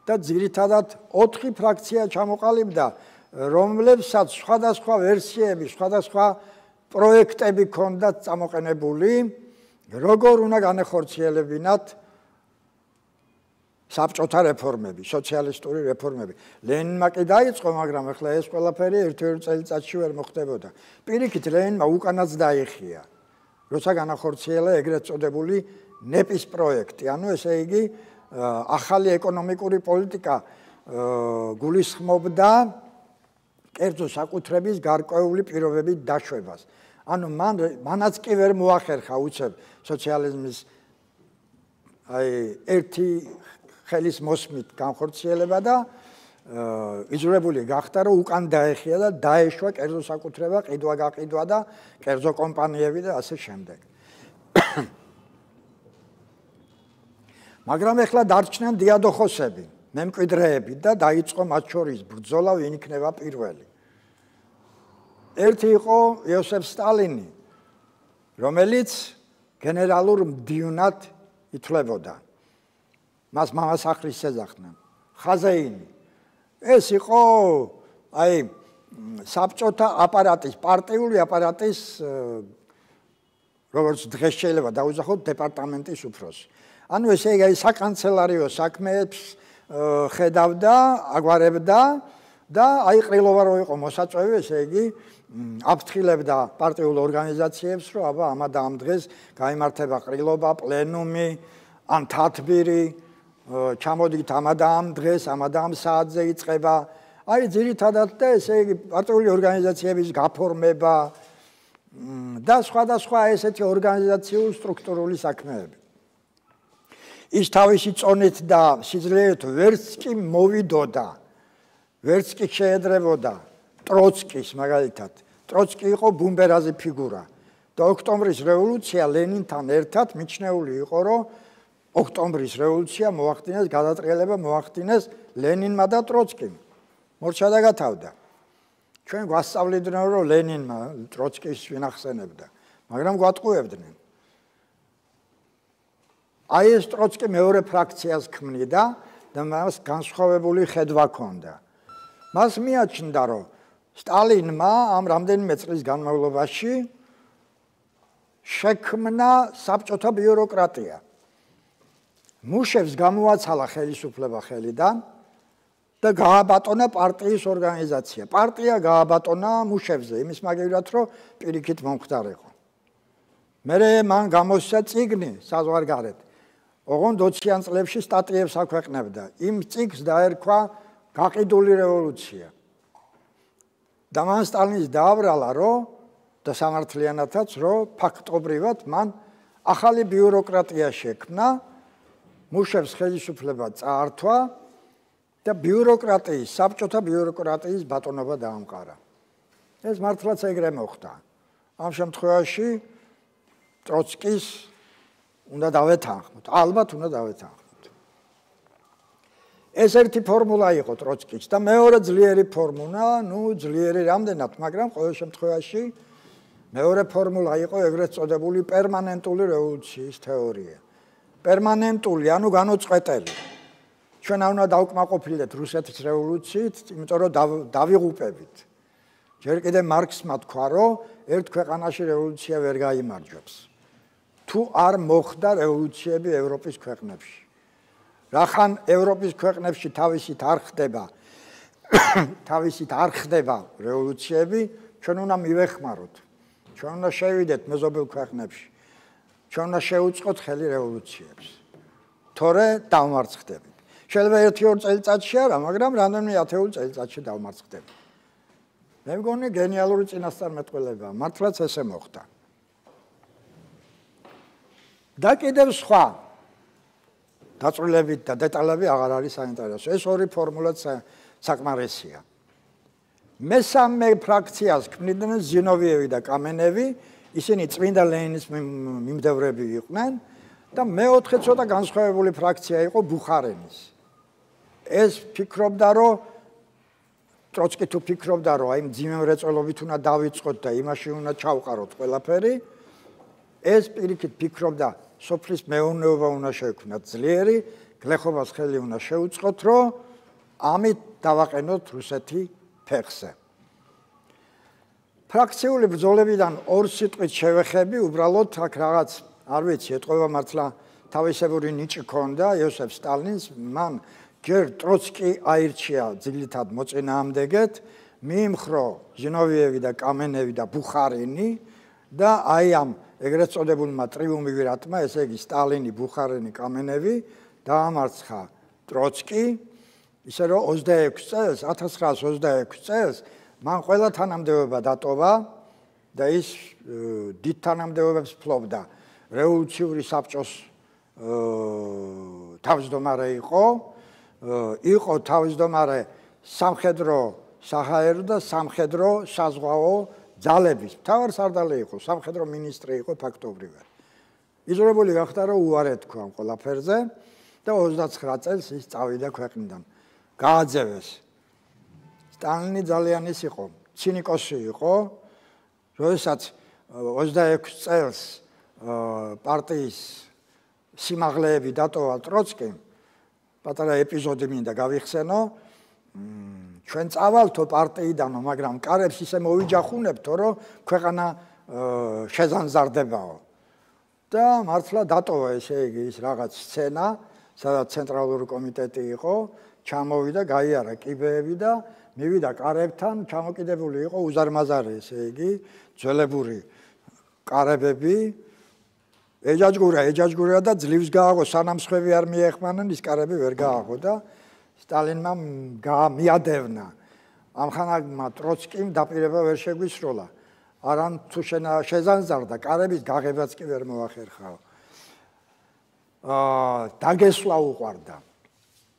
და ძირითადად ოთხი ფრაქცია ჩამოყალიბდა, რომლებსაც სხვადასხვა ვერსიები, სხვადასხვა პროექტები ჰქონდათ წამოყენებული, როგორ უნდა განეხორციელებინათ საბჭოთა რეფორმები, სოციალისტური რეფორმები. ლენინმა კი დაიწყო, მაგრამ ახლა ეს ყველაფერი ერთ-ერთ წელიწადში ვერ მოხდებოდა. პირიქით ლენინმა უკანაც დაიხია, როცა განახორციელა ეგრეთ წოდებული ნეპის პროექტი. ანუ ესე იგი, ახალი ეკონომიკური პოლიტიკა გულისხმობდა კერძო საკუთრების გარკვეული პირობებით დაშვებას. ანუ მან მანაც კი ვერ მოახერხა უცებ სოციალიზმის აი ერთი ხელის მოსმით განხორციელება და იძულებული გახდა, რომ უკან დაეხია და დაეშვა კერძო საკუთრება, ყიდვა გაყიდვა და კერძო კომპანიები და ასე შემდეგ. მაგრამ ეხლა დარჩნენ დიადოხოსები, მემკვიდრეები და დაიწყო მათ შორის ბრძოლა, ვინ იქნება პირველი. ერთი იყო იოსებ სტალინი, რომელიც გენერალურ მდივნად ითვლებოდა. მას მამასახლის ეძახდნენ. ხაზეინი. ეს იყო აი საბჭოთა აპარატის, პარტიული აპარატის როგორც დღეს შეიძლება დაუძახოთ დეპარტამენტის უფროსი. ანუ ესე იგი საკანცელარიო საქმეებს ხედავდა, აგვარებდა და აი ყრილობა რო იყო მოსაწვევი, ესე იგი აფრთხილებდა პარტიულ ორგანიზაციებს, რომ აბა ამა და ამ დღეს გაიმართება ყრილობა, პლენუმი, ან თათბირი, ჩამოდით ამა და ამ დღეს, ამა და ამ საათზე იწყება. აი ძირითადად და ესე იგი პარტიული ორგანიზაციების გაფორმება და სხვადასხვა ესეთი ორგანიზაციული სტრუქტურული საქმეები. ის თავისი წონით და სიძლიერით ვერც კი მოვიდოდა, ვერც კი შეედრებოდა ტროცკის მაგალითად. ტროცკი იყო ბუმბერაზი ფიგურა და ოქტომბრის რევოლუცია ლენინთან ერთად მიჩნეული იყო, რომ ოქტომბრის რევოლუცია მოახდინეს, გადატრიალება მოახდინეს ლენინმა და ტროცკიმ. მორჩა და გათავდა. ჩვენ გვასწავლიდნენ, რომ ლენინმა ტროცკის ვინახსენებდა, მაგრამ გვატყუებდნენ. აი ეს ტროცკი მეორე ფრაქციას ქმნიდა და მას განსხვავებული ხედვა ჰქონდა. მას მიაჩნდა, რომ სტალინმა ამ რამდენიმე წლის განმავლობაში შექმნა საბჭოთა ბიუროკრატია. მუშებს გამოაცალა ხელისუფლება ხელიდან და გააბატონა პარტიის ორგანიზაცია. პარტია გააბატონა მუშებზე, იმის მაგივრად, რომ პირიქით მომხდარიყო. მერე მან გამოსცა წიგნი საზღვარგარეთ. ოღონდ ოციან წლებში სტატიებს აქვეყნებდა. იმ წიგნს დაერქვა გაყიდული რევოლუცია. და მან სტალინის დააბრალა, რომ და სამართლიანათაც, რომ ფაქტობრივად მან ახალი ბიუროკრატია შექმნა, მუშებს ხელისუფლება წაართვა და ბიუროკრატიის, საბჭოთა ბიუროკრატიის ბატონობა დაამყარა. ეს მართლაც ეგრე მოხდა. ამ შემთხვევაში ტროცკის უნდა დავეთანხმოთ, ალბათ უნდა დავეთანხმოთ. ეს ერთი ფორმულა იყო ტროცკის და მეორე ძლიერი ფორმულა, ну ძლიერი რამდენად, მაგრამ ყოველ შემთხვევაში მეორე ფორმულა იყო ეგრეთ წოდებული პერმანენტული რევოლუციის თეორია. პერმანენტული, ანუ განუწყვეტელი. ჩვენ არ უნდა დავკმაყოფილდეთ რუსეთის რევოლუციით, იმიტომ რომ დავიღუპებით. ჯერ კიდე მარქსმა თქვა, რომ ერთ ქვეყანაში რევოლუცია ვერ გაიმარჯვებს. თუ არ მოხდა რევოლუციები ევროპის ქვეყნებში. რახან ევროპის ქვეყნებში თავისით არ ხდება, თავისით არ ხდება რევოლუციები, ჩვენ უნდა მივეხმაროთ. ჩვენ უნდა შევიდეთ მეზობელ ქვეყნებში. ჩვენ უნდა შევუწყოთ ხელი რევოლუციებს. თორე დავმარცხდებით. შეიძლება ერთი-ორ წელიწადში არა, მაგრამ რამდენიმე ათეული წელიწადში დავმარცხდებით. მე მგონი გენიალური წინასწარმეტყველებაა, მართლაც ესე მოხდა. და კიდევ სხვა დაწვრილებით და დეტალები აღარ არის საინტერესო. ეს ორი ფორმულაც საკმარისია. მესამე ფრაქციას ქმნიდნენ ზინოვიევი და კამენევი, ისინი წმინდა ლენინის მიმდევრები იყვნენ და მეოთხე ცოტა განსხვავებული ფრაქცია იყო ბუხარენის. ეს ფიქრობდა, რომ ტროცკი თუ ფიქრობდა, რომ აი მძიმე მრეწველობით უნდა დავიწყოთ და იმაში უნდა ჩავყაროთ ყველაფერი, ეს პირიქით ფიქრობდა, სოფლის მეურნეობა უნდა შევქმნათ ძლიერი, გლეხობას ხელი უნდა შეუწყოთ, რომ ამით დავაყენოთ რუსეთი ფეხზე. ფრაქციული ბრძოლებიდან ორ სიტყვით შევეხები, უბრალოდ აქ რაღაც, არ ვიცი, ეტყობა მართლა თავისებური ნიჭი ქონდა იოსებ სტალინს, მან ჯერ ტროცკი აირჩია ძილითად მოწინააღმდეგეთ, მიიმხრო ზინოვიევი და კამენევი და ბუხარინი და აი ამ ეგრეთ წოდებულმა ტრიუმვირატმა, ესე იგი სტალინი, ბუხარინი, კამენევი დაამარცხა ტროცკი, ისე რომ ოცდაექვსი წელს, ათას ცხრაას ოცდაექვსი წელს მან ყველა თანამდებობა დატოვა და ის დიდ თანამდებობებს ფლობდა. რევოლუციური საბჭოს თავმჯდომარე იყო, იყო თავმჯდომარე სამხედრო საჰაერო და სამხედრო საზღვაო ძალების მთავარსარდალი იყო, სამხედრო მინისტრი იყო ფაქტობრივად. იზოლებული გახდა, რომ უარი თქვა ამ ყველაფერზე და ოცდაცხრა წელს ის წავიდა ქვეყნიდან. გააძევეს. სტალინი ძალიან ის იყო, ცინიკოსი იყო, როდესაც ოცდაექვსი წელს პარტიის სიმაღლეები დატოვა ტროცკიმ, პატარა ეპიზოდი მინდა გავიხსენო, ჩვენ წავალთო პარტიიდანო, მაგრამ კარებს ისე მოვიჯახუნებთო, რომ ქვეყანა შეზანზარდებაო. და მართლა დატოვა ესე იგი ის რაღაც სცენა, სადაც ცენტრალური კომიტეტი იყო, ჩამოვიდა, გაიარა კიბეები და მივიდა კარებთან, ჩამოკიდებული იყო უზარმაზარი, ესე იგი, ძველებური კარებები, ეჯაჯგურა, ეჯაჯგურა და ძლივს გააღო, სანამ სხვები არ მიეხმანენ, ის კარები ვერ გააღო და სტალინმა მიადევნა. ამხანაგმა ტროცკიმ დაპირება ვერ შეგვისროლა. არამ თუ შეზანზარდა, კარების გაღებაც კი ვერ მოახერხაო. აა დაგესვლა უყვარდა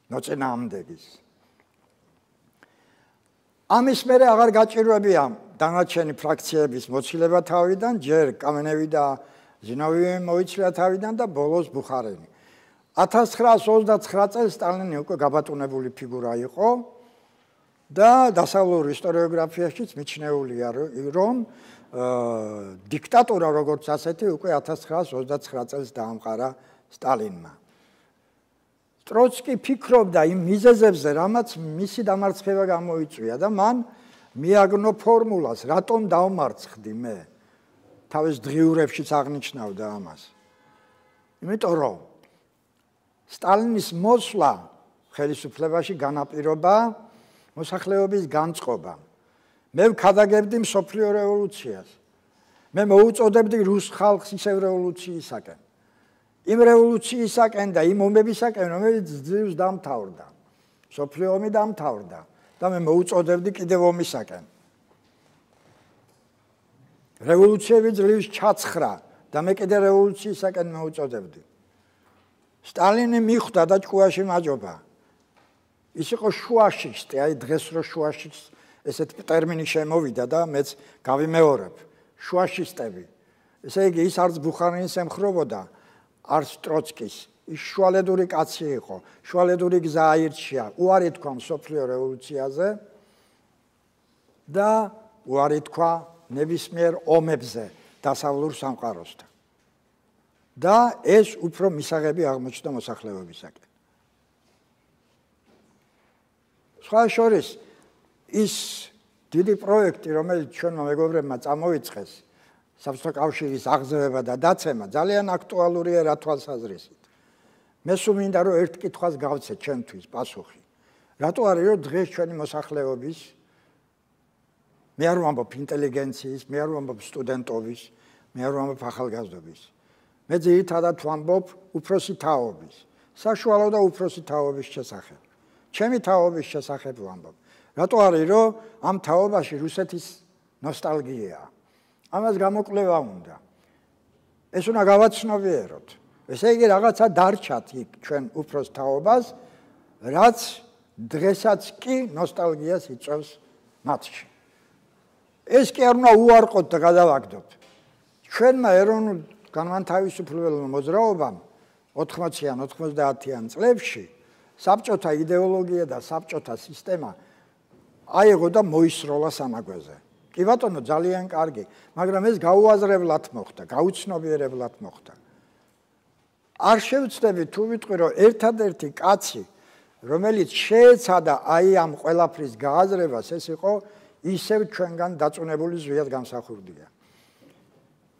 მოწინააღმდეგის. ამის მერე აღარ გაჭირვებია დანარჩენი ფრაქციების მოცილება თავიდან, ჯერ კამენევი და ზინოვიევი მოიცვლია თავიდან და ბოლოს ბუხარენი. ათას ცხრაას ოცდაცხრა წელს სტალინი უკვე გაბატონებული ფიგურა იყო და დასავლურ ისტორიოგრაფიაშიც მიჩნეულია, რომ დიქტატურა როგორც ასეთი უკვე ათას ცხრაას ოცდაცხრა წელს დაამყარა სტალინმა. ტროცკი ფიქრობდა იმ მიზეზებზე, რამაც მისი დამარცხება გამოიწვია და მან მიაგნო ფორმულას, რატომ დავმარცხდი მე. თავის დღიურებშიც აღნიშნავდა ამას. იმიტომ რომ სტალინის მოსვლა ხელისუფლებაში განაპირობა მოსახლეობის განწყობა. მე ვქადაგებდი მსოფლიო რევოლუციას. მე მოუწოდებდი რუს ხალხს ისევ რევოლუციისაკენ. იმ რევოლუციისაკენ და იმ ომებისაკენ, რომელიც ძლივს დამთავრდა. მსოფლიო ომი დამთავრდა და მე მოუწოდებდი კიდევ ომისაკენ. რევოლუციები ძლივს ჩაცხრა და მე კიდე რევოლუციისაკენ მოუწოდებდი. სტალინი მიხვდა და ჭკუაში მაჯობა. ის იყო შუაშისტი, აი დღეს რო შუაშისტ ესეთ ტერმინი შემოვიდა და მეც გავიმეორებ. შუაშისტები. ესე იგი ის არც ბუხარინის ემხრობოდა, არც ტროცკის. ის შუალედური კაცი იყო, შუალედური გზა აირჩია, უარი თქვა მსოფლიო რევოლუციაზე და უარი თქვა ნებისმიერ ომებზე დასავლურ სამყაროსთან. და ეს უფრო მისაღები აღმოჩნდა მოსახლეობისაკენ. სხვა შორის ის დიდი პროექტი, რომელიც ჩვენმა მეგობრებმა წამოიწყეს, საბჭოთა კავშირის აღზევება და დაცემა, ძალიან აქტუალურია რა თვალსაზრისით. მე სულ მინდა რომ ერთ კითხვას გავცე ჩვენთვის პასუხი. რატო არის რომ დღეს ჩვენი მოსახლეობის, მე არ ვამბობ ინტელიგენციის, მე არ ვამბობ სტუდენტობის, მე არ ვამბობ ახალგაზრდობის. მე ძირითადად ვამბობ უფროსი თაობის, საშუალო და უფროსი თაობის შესახებ. ჩემი თაობის შესახებ ვამბობ. რატო არის რომ ამ თაობაში რუსეთის ნოსტალგიაა. ამას გამოკვლევა უნდა. ეს უნდა გავაცნობიეროთ. ესე იგი რაღაცა დარჩათ იქ ჩვენ უფროს თაობას, რაც დღესაც კი ნოსტალგიას იწვევს მათში. ეს კი არ უნდა უარყოთ და გადავაგდოთ. ჩვენმა ეროვნულ განმათავისუფლებელ მოძრაობამ ოთხმოციან ოთხმოცდაათიან წლებში საბჭოთა იდეოლოგია და საბჭოთა სისტემა აიღო და მოისროლა სამაგვეზე. კი ბატონო, ძალიან კარგი, მაგრამ ეს გაუაზრებლად მოხდა, გაუცნობიერებლად მოხდა. არ შევცდები თუ ვიტყვი, რომ ერთადერთი კაცი, რომელიც შეეცადა აი ამ ყველაფრის გააზრებას, ეს იყო ისევ ჩვენგან დაწუნებული ზვიად გამსახურდია,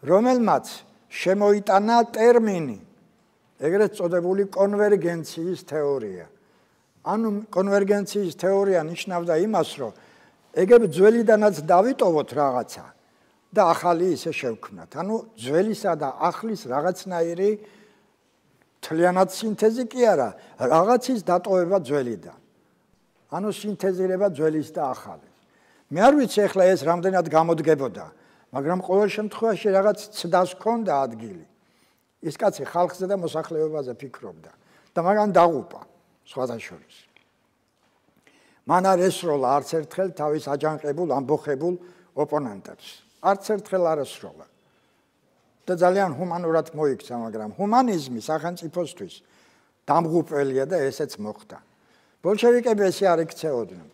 რომელმაც შემოიტანა ტერმინი, ეგრეთ წოდებული კონვერგენციის თეორია. ანუ კონვერგენციის თეორია ნიშნავდა იმას, რომ ეგებ ძველიდანაც დავიტოვოთ რაღაცა და ახალი ისე შევქმნათ. ანუ ძველისა და ახლის რაღაცნაირი თლიანად სინთეზი კი არა, რაღაცის დატოვება ძველიდან. ანუ სინთეზირება ძველის და ახალის. მე არ ვიცი ახლა ეს რამდენად გამოდგებოდა, მაგრამ ყოველ შემთხვევაში რაღაც ცდას ჰქონდა ადგილი. ის კაცი ხალხზე და მოსახლეობაზე ფიქრობდა და მაგან დაღუპა სხვათა შორის. მან არ ესროლა არც ერთხელ თავის აჯანყებულ, ამბოხებულ ოპონენტებს. არც ერთხელ არ ესროლა. და ძალიან ჰუმანურად მოიქცა, მაგრამ ჰუმანიზმი სახელმწიფოსთვის დამღუპველია და ესეც მოხდა. ბოლშევიკები ესე არ იქცეოდნენ.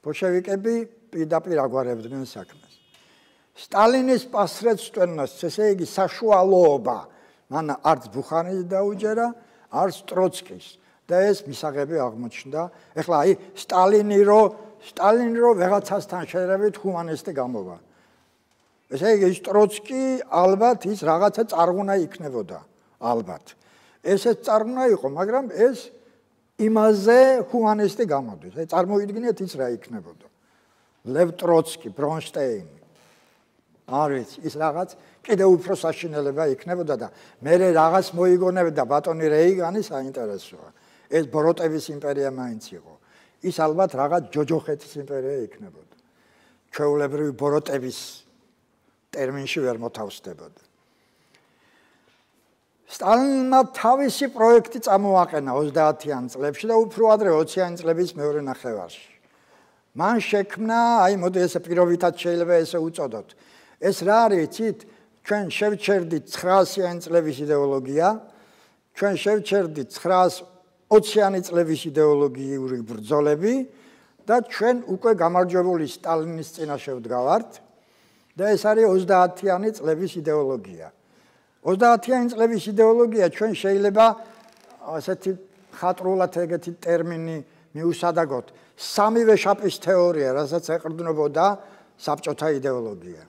ბოლშევიკები პირდაპირ აგვარებდნენ საქმეს. სტალინის პასრეცტვენას, ესე იგი საშუალოობა, მან არც ბუხარის დაუჯერა, არც ტროცკის და ეს მისაღები აღმოჩნდა. ეხლა აი სტალინი რო სტალინი რო ვეღაცასთან შედარებით ჰუმანისტი გამოვა. ესე იგი ის ტროცკი ალბათ ის რაღაცა წარღვნა იქნებოდა, ალბათ. ესეც წარღვნა იყო, მაგრამ ეს იმაზე ჰუმანისტი გამოდის. აი წარმოიდგინეთ ის რა იქნებოდა. ლევ ტროცკი, ბრონშტეინი. არის ის რაღაც კიდევ უფრო საშინელება იქნებოდა და მე რაღაც მოიგონებდა ბატონი რეიგანი საინტერესოა. ეს ბოროტების იმპერია მაინც იყო. ის ალბათ რაღაც ჯოჯოხეთის იმპერია იქნებოდა. ჩვეულებრივი ბოროტების ტერმინში ვერ მოთავსდებოდა. სტალინმა თავისი პროექტი წამოაყენა ოცდაათიან წლებში და უფრო ადრე ოციანი წლების მეორე ნახევარში. მან შექმნა, აი მოდი ესე პირობითად შეიძლება ესე უწოდოთ. ეს რა არის, იცით, ჩვენ შევჩერდით ცხრაასიანი წლების იდეოლოგია, ჩვენ შევჩერდით ცხრაასოციანი წლების იდეოლოგიური ბრძოლები და ჩვენ უკვე გამარჯვებული სტალინის წინაშე ვდგავართ და ეს არის ოცდაათიანი წლების იდეოლოგია. ოცდაათიანი წლების იდეოლოგია ჩვენ შეიძლება ასეთი ხატრულად ეგეთი ტერმინი მიუსადაგოთ. სამივე შაპის თეორია, რასაც ეყრდნობოდა საბჭოთა იდეოლოგია.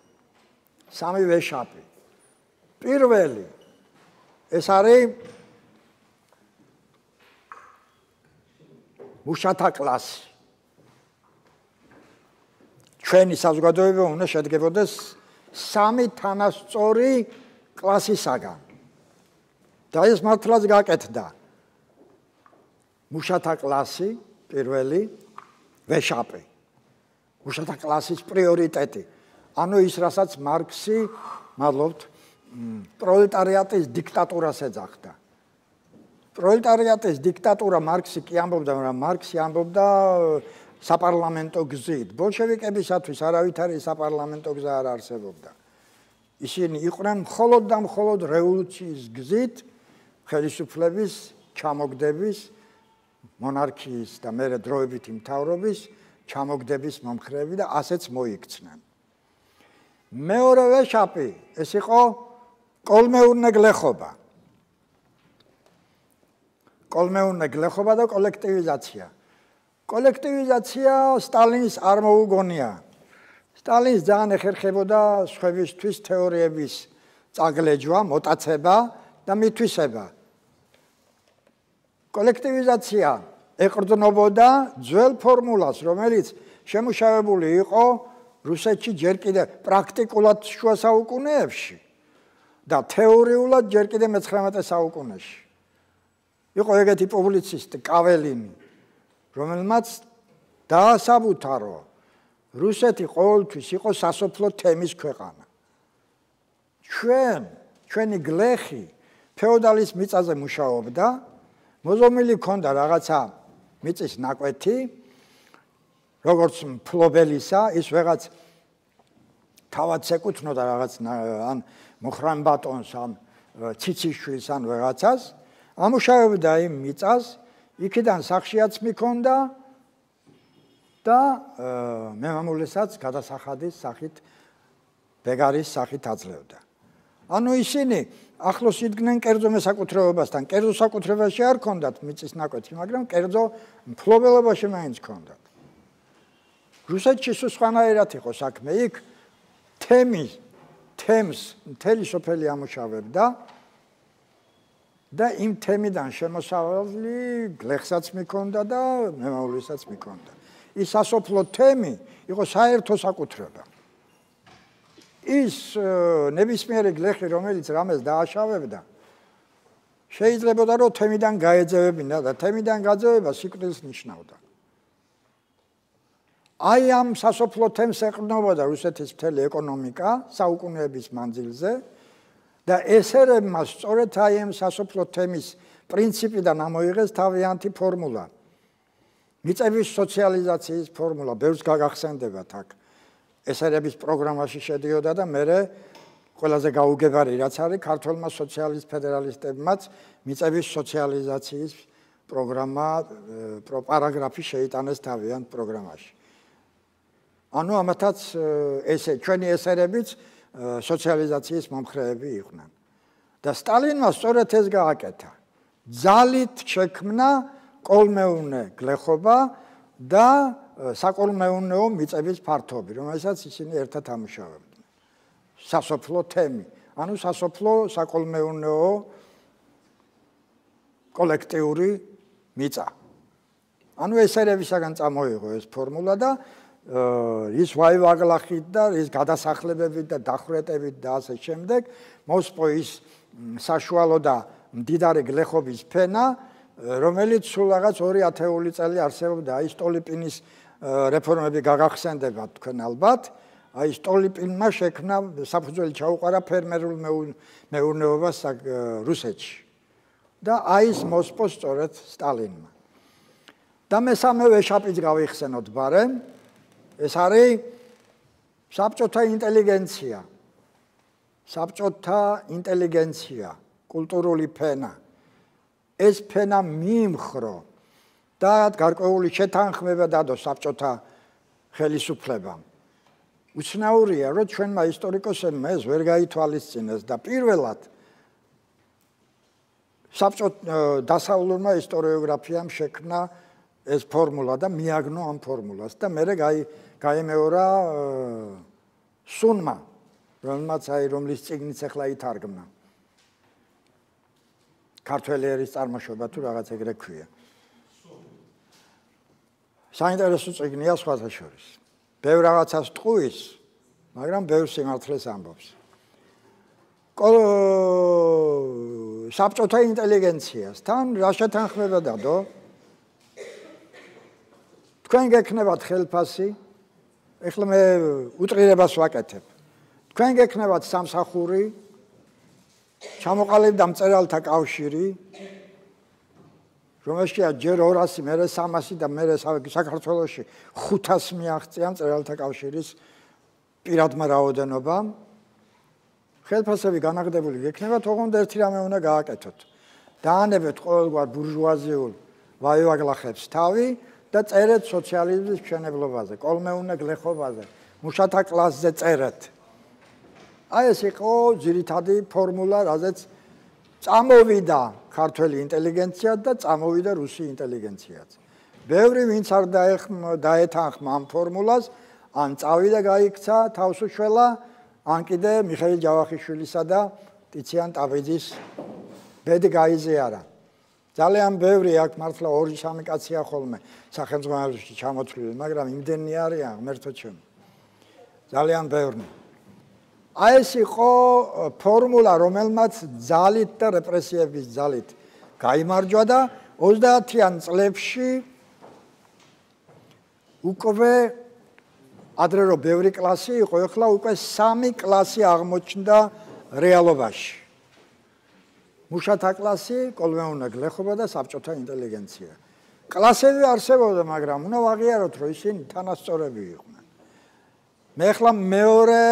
სამივე შაპი. პირველი ეს არის მუშათა კლასი. ჩვენი საზოგადოება უნდა შედგებოდეს სამი თანასწორი კლასისაგან. და ეს მართლაც გაკეთდა. მუშათა კლასი პირველი, ვეშაპი. მუშათა კლასის პრიორიტეტი. ანუ ის რასაც მარქსი, მადლობთ, პროლეტარიატის დიქტატურას ეძახდა. პროლეტარიატის დიქტატურა მარქსი კი ამბობდა, მაგრამ მარქსი ამბობდა საპარლამენტო გზით. ბოლშევიკებისათვის არავითარი საპარლამენტო გზა არ არსებობდა. ისინი იყვნენ მხოლოდ და მხოლოდ რევოლუციის გზით, ხელისუფლების ჩამოგდების, მონარქიის და მერე დროებითი მთავრობის ჩამოგდების მომხრეები და ასეც მოიქცნენ. მეორე ვეშაპი ეს იყო კოლმეურნე გლეხობა. კოლმეურნე გლეხობა და კოლექტივიზაცია. კოლექტივიზაცია სტალინის არ მოუგონია. სტალინს ძალიან ეხერხებოდა სხვებისთვის თეორიების წაგლეჯვა, მოტაცება და მითვისება. კოლექტივიზაცია ეყრდნობოდა ძველ ფორმულას, რომელიც შემუშავებული იყო რუსეთში ჯერ კიდევ პრაქტიკულად შუა საუკუნეებში და თეორიულად ჯერ კიდევ მეცხრამეტე საუკუნეში. იყო ეგეთი პუბლიცისტი კაველინი, რომელმაც დაასაბუთა, რომ რუსეთი ყოველთვის იყო სასოფლო თემის ქვეყანა. ჩვენ, ჩვენი გლეხი ფეოდალის მიწაზე მუშაობდა, მოზომილი ჰქონდა რაღაცა მიწის ნაკვეთი, როგორც მფლობელისა, ის ვეღაც თავად ეკუთვნოდა რაღაც ან მოხრან ბატონს, ან ციციშვილს, ან ვეღაცას, ამუშავებდა იმ მიწას, იქიდან სახშიაც მიქონდა და მემამულესაც გადასახადის სახით, ბეგარის სახით აძლევდა. ანუ ისინი ახლოს იდგნენ კერძო მესაკუთრეობასთან, კერძო საკუთრებაში არ ჰქონდათ მიწის ნაკვეთი, მაგრამ კერძო მფლობელობაში მაინც ჰქონდათ. რუსეთში სულ სხვანაირად იყო საქმე, იქ თემი, თემს მთელი სოფელი ამუშავებდა და იმ თემიდან შემოსავალი გლეხსაც მიქონდა და მემამულესაც მიქონდა. ის სასოფლო თემი იყო საერთო საკუთრება. ის ნებისმიერი გლეხი, რომელიც რამეს დააშავებდა, შეიძლება რომ თემიდან გაეძევებინა და თემიდან გაძევება სიკვდილს ნიშნავდა. აი ამ სასოფლო თემს ეყრდნობოდა რუსეთის მთელი ეკონომიკა საუკუნეების მანძილზე და ესერებმა სწორედ აი ამ სასოფლო თემის პრინციპიდან ამოიღეს თავიანთი ფორმულა. მიწების სოციალიზაციის ფორმულა, ბევრს გაგახსენდებათ აქ. ესერების პროგრამაში შედიოდა და მერე ყველაზე გაუგებარი რაც არის ქართველმა სოციალისტ ფედერალისტებმაც მიწების სოციალიზაციის პროგრამა პარაგრაფი შეიტანეს თავიანთ პროგრამაში. ანუ ამათაც ესე ჩვენი ესერებიც სოციალიზაციის მომხრეები იყვნენ. და სტალინმა სწორედ ეს გააკეთა. ძალით შექმნა კოლმეუნე გლეხობა და საკოლმეუნეო მიწების ფართობი, რომელსაც ისინი ერთად ამუშავებდნენ. სასოფლო თემი, ანუ სასოფლო საკოლმეუნეო კოლექტიური მიწა. ანუ ესერებისაგან წამოიღო ეს ფორმულა და ის ვაივაღლახით და ის გადასახლებებით და დახვრეტებით და ასე შემდეგ მოსპო ის საშუალო და მდიდარი გლეხობის ფენა, რომელიც სულ რაღაც ორი ათეული წელი არსებობდა. აი სტოლიპინის რეფორმები გაგახსენდებათ თქვენ ალბათ. აი სტოლიპინმა შექმნა საფუძველი ჩაუყარა ფერმერულ მეურნეობას რუსეთში. და აი ეს მოსპო სწორედ სტალინმა. და მესამე ვეშაპიც გავიხსენოთ ბარემ. ეს არის საბჭოთა ინტელიგენცია. საბჭოთა ინტელიგენცია, კულტურული ფენა. ეს ფენა მიიმხრო და გარკვეული შეთანხმება დადო საბჭოთა ხელისუფლებამ. უცნაურია, რომ ჩვენმა ისტორიკოსებმა ეს ვერ გაითვალისწინეს და პირველად საბჭოთა დასავლურმა ისტორიოგრაფიამ შექმნა ეს ფორმულა და მიაგნო ამ ფორმულას და მერე გაიმეორა სუნმა, რომელმაც აი რომლის წიგნიც ახლა ითარგმნა. ქართველი ერის წარმოშობა თუ რაღაც ეგრე ქვია. საინტერესო წიგნია სხვათა შორის. ბევრ რაღაცას ტყუის, მაგრამ ბევრ სიმართლეს ამბობს. საბჭოთა ინტელიგენციასთან რა შეთანხმება დადო? თქვენ გექნებათ ხელფასი, ეხლა მე უტრირებას ვაკეთებ. თქვენ გექნებათ სამსახური, ჩამოყალიბდა მწერალთა კავშირი, რომელშია ჯერ ორასი, მერე სამასი და მერე საქართველოში ხუთასი მიაღწია მწერალთა კავშირის პირადმა რაოდენობამ. ხელფასები განაგდებული გექნებათ, ოღონდ ერთი რამე უნდა გააკეთოთ. დაანებეთ ყოველგვარ ბურჟუაზიულ ვაივაღლახებს თავი და წერეთ სოციალიზმის მშენებლობაზე, კოლმეუნე გლეხობაზე, მუშათა კლასზე წერეთ. აი ეს იყო ძირითადი ფორმულა, რაზეც წამოვიდა ქართველი ინტელიგენცია და წამოვიდა რუსი ინტელიგენციაც. ბევრი ვინც არ დაეთანხმა ამ ფორმულას, ან წავიდა გაიქცა თავს უშველა, ან კიდე მიხეილ ჯავახიშვილისა და ტიციან ტაბიძის ბედი გაიზიარა. ძალიან ბევრი აქ მართლა ორი სამი კაცია ხოლმე სახელმწიფოში ჩამოთვლილი, მაგრამ იმდენი არიან ღმერთო ჩემო. ძალიან ბევრი. აი ეს იყო ფორმულა, რომელმაც ძალით და რეპრესიების ძალით გაიმარჯვა და ოცდაათიან წლებში უკვე ადრე რო ბევრი კლასი იყო, ეხლა უკვე სამი კლასი აღმოჩნდა რეალობაში. მუშათა კლასი, კოლმეუნა გლეხობა და საბჭოთა ინტელიგენცია. კლასები არსებობდა, მაგრამ უნდა ვაღიაროთ, რომ ისინი თანასწორები იყვნენ. მე ახლა მეორე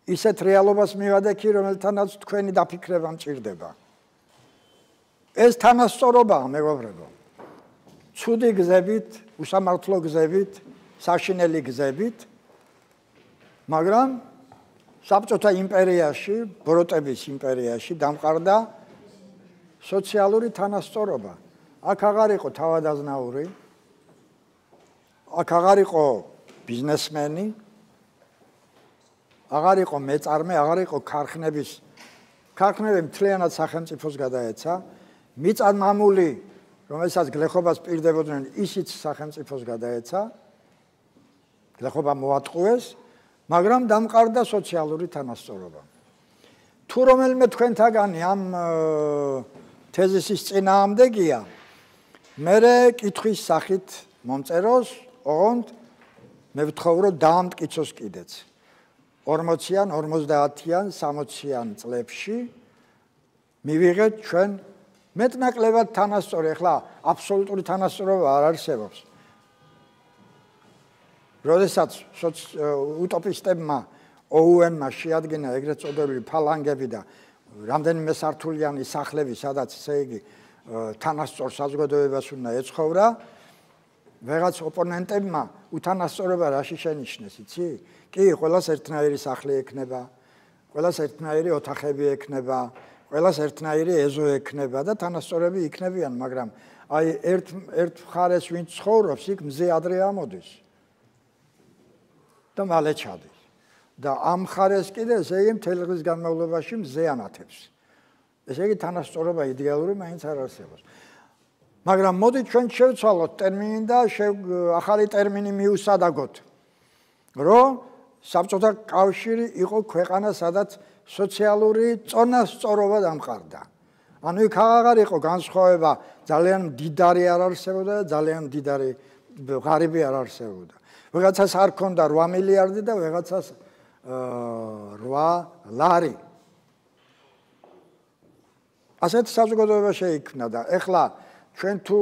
ისეთ რეალობას მივადექი, რომელთანაც თქვენი დაფიქრება მჭირდება. ეს თანასწორობაა, მეგობრებო. ცუდი გზებით, უსამართლო გზებით, საშინელი გზებით, მაგრამ საბჭოთა იმპერიაში, ბროტების იმპერიაში დამყარდა სოციალური თანასწორობა. აქ აღარ იყო თავადაზნაური, აქ აღარ იყო ბიზნესმენი, აღარ იყო მეწარმე, აღარ იყო ქარხნების, ქარხნები მთლიანად სახელმწიფოს გადაეცა, მიწარმამული, რომელსაც გლეხობას პირდებოდნენ, ისიც სახელმწიფოს გადაეცა, გლეხობა მოატყუეს, მაგრამ დამყარდა სოციალური თანასწორობა. თუ რომელიმე თქვენთაგანი ამ თეზისის წინააღმდეგია, მერე კითხვის სახით მომწეროს, ოღონდ მე ვთხოვ, რომ დაამტკიცოს კიდეც. ორმოციან, ორმოცდაათიან, სამოციან წლებში მივიღეთ ჩვენ მეტნაკლებად თანასწორი, ახლა აბსოლუტური თანასწორობა არ არსებობს. როდესაც უტოპისტებმა O U N-მა შეადგინა ეგრეთ წოდებული ფალანგები და რამდენიმე სართულიანი სახლები, სადაც ესე იგი თანასწორ საზოგადოებას უნდა ეცხოვრა, ვეღაც ოპონენტებმა უთანასწორობა რაში შენიშნეს, იცი? კი, ყველას ერთნაირი სახლი ექნება, ყველას ერთნაირი ოთახები ექნება, ყველას ერთნაირი ეზო ექნება და თანასწორები იქნებიან, მაგრამ აი ერთ ერთ მხარეს ვინც ცხოვრობს, იქ მზე ადრე ამოდის და მალე ჩადის. და ამ მხარეს კიდე ესე იგი მთელი დღის განმავლობაში მზე ანათებს. ესე იგი თანასწორობა იდეალური მაინც არ არსებობს. მაგრამ მოდით ჩვენ შევცვალოთ ტერმინი და ახალი ტერმინი მიუსადაგოთ, რომ საბჭოთა კავშირი იყო ქვეყანა, სადაც სოციალური წონასწორობა დამყარდა. ანუ იქ აღარ იყო განსხვავება, ძალიან მდიდარი არ არსებობდა და ძალიან მდიდარი ღარიბი არ არსებობდა. ვიღაცას არ ქონდა რვა მილიარდი და ვიღაცას რვა ლარი. ასეთ საზოგადოება შეიქმნა და ეხლა ჩვენ თუ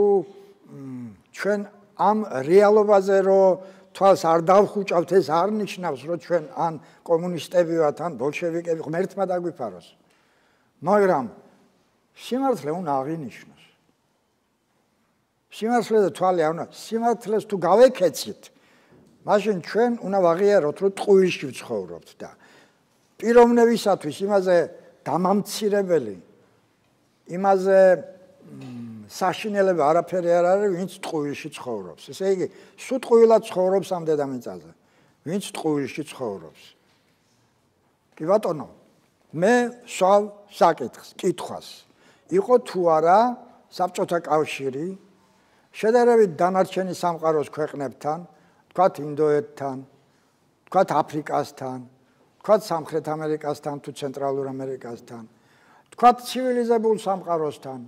ჩვენ ამ რეალობაზე რომ თვალს არ დავხუჭავთ, ეს არ ნიშნავს, რომ ჩვენ ან კომუნისტები ვართ, ან ბოლშევიკები, ღმერთმა დაგვიფაროს. მაგრამ სიმართლე უნდა აღინიშნოს. სიმართლე და თვალი არ უნდა, სიმართლეს თუ გავეკეცით, მაშინ ჩვენ უნდა ვაღიაროთ, რომ ტყუილში ვცხოვრობთ და პიროვნებისათვის იმაზე დამამცირებელი, იმაზე საშინელება არაფერი არ არის, ვინც ტყუილში ცხოვრობს. ესე იგი, სულ ტყუილად ცხოვრობს ამ დედამიწაზე, ვინც ტყუილში ცხოვრობს. კი ბატონო, მე სვავ საკითხს, კითხვას. იყო თუ არა საბჭოთა კავშირი შედარებით დანარჩენი სამყაროს ქვეყნებთან, თქვათ ინდოეთთან, თქვათ აფრიკასთან, თქვათ სამხრეთ ამერიკასთან თუ ცენტრალურ ამერიკასთან, თქვათ ცივილიზებულ სამყაროსთან,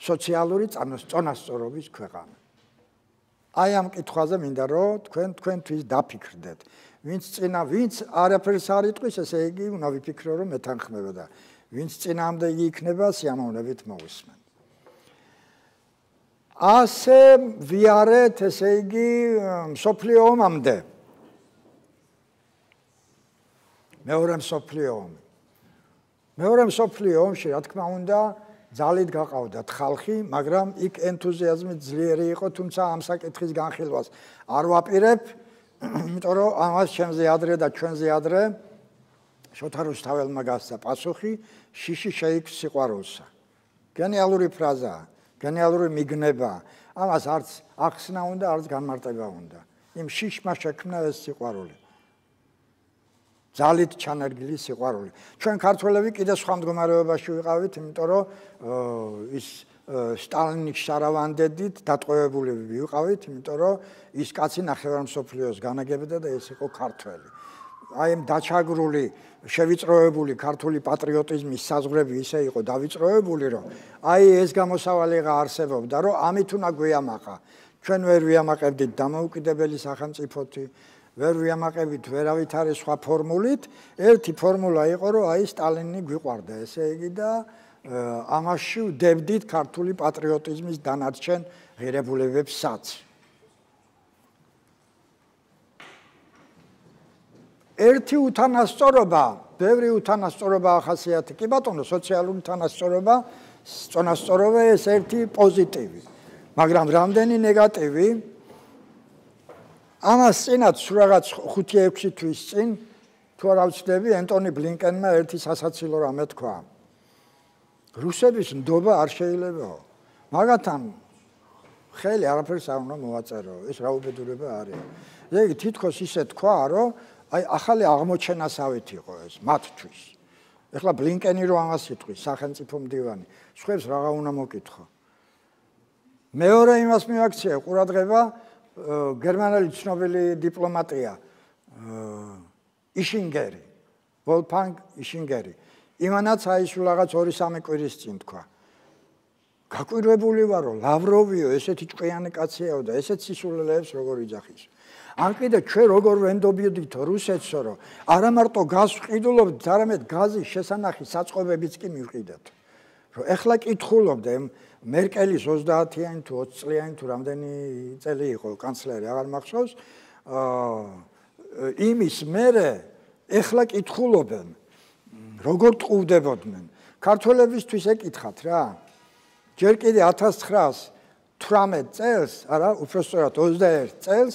სოციალური წონასწორობის ქვეყანა. აი ამ კითხვაზე მინდა რომ თქვენ თქვენთვის დაფიქრდეთ. ვინც წინა, ვინც არაფერს არ იტყვის, ესე იგი უნდა ვიფიქრო, რომ მეთანხმება და ვინც წინააღმდეგი იქნება, სიამოვნებით მოვისმენ. ასე ვიარეთ, ესე იგი, მსოფლიო ომამდე. მეორე მსოფლიო ომი. მეორე მსოფლიო ომში, რა თქმა უნდა, ძალით გაყავდათ ხალხი, მაგრამ იქ ენთუზიაზმი ძლიერი იყო, თუმცა ამ საკითხის განხილვას არ ვაპირებ, იმიტომ რომ ამას ჩემზე ადრე და ჩვენზე ადრე შოთა რუსთაველმა გასცა პასუხი, შიში შეიქმს სიყვარულსა. გენიალური ფრაზაა, გენიალური მიგნება, ამას არც ახსნა უნდა, არც განმარტება უნდა. იმ შიშმა შექმნა ეს სიყვარული. ძალით ჩანერგილი სიყვარული. ჩვენ ქართველები კიდე სხვა მდგომარეობაში ვიყავით, იმიტომ რომ ის სტალინის შარავანდედით დატყვევებული ვიყავით, იმიტომ რომ ის კაცი ნახევარ მსოფლიოს განაგებდა და ეს იყო ქართველი. აი ამ დაჩაგრული შევიწროებული ქართული პატრიოტიზმის საზღვრები ისე იყო დავიწროებული, რომ აი ეს გამოსავალიღა არსებობდა, რომ ამით უნდა გვიამაყა. ჩვენ ვერ ვიამაყებდით დამოუკიდებელი სახელმწიფოთი, ვერ ვიამაყებით ვერავითარი სხვა ფორმულით, ერთი ფორმულა იყო, რომ აი სტალინი გვიყვარდა, ესე იგი და ამაში ვდებდით ქართული პატრიოტიზმის დანარჩენ ღირებულებებსაც. ერთი უთანასწორობა, ბევრი უთანასწორობა ახასიათი. კი ბატონო, სოციალური უთანასწორობა, წონასწორობა ეს ერთი პოზიტივი. მაგრამ რამდენი ნეგატივი? ამას წინაც რაღაც ხუთი ექვსი თვის წინ თუ არ ავწდები, ენტონი ბლინკენმა ერთი სასაცილო რამე თქვა. რუსების ნდობა არ შეიძლებაო. მაგათან ხელი არაფერს არ უნდა მოვაწერო, ეს რა უბედურება არის. ესე იგი თითქოს ისე თქვა, რომ აი ახალი აღმოჩენასავით იყო ეს მათთვის. ეხლა ბლინკენი რო ამას იტყვის, სახელმწიფო მდივანი, სხვებს რაღა უნდა მოკითხო. მეორე იმას მივაქცია ყურადღება გერმანელი ცნობილი დიპლომატია იშინგერი, ვოლფგანგ იშინგერი. იმანაც აი სულ რაღაც ორი სამი კვირის წინ თქვა. გაკვირვებული ვარო, ლავროვიო ესეთი ჭკვიანი კაციაო და ესეთ სისულელეებს როგორ იძახის. ან კიდე ჩვენ როგორ ვენდობიდითო რუსეთსო, რომ არა მარტო გაზს ვყიდულობთ, არამედ გაზის შესანახი საწყობებიც კი მივყიდათ. რომ ეხლა კითხულობდე მერკელის ოცდაათიანი თუ ოცი წლიანი თუ რამდენი წელი იყო კანცლერი, აღარ მახსოვს, იმის მერე ეხლა კითხულობენ, როგორ ტყუვდებოდნენ. ქართველებისთვის ეკითხათ რა. ჯერ კიდე ათას ცხრაას თვრამეტ წელს, არა, უпростоრად ოცდაერთ წელს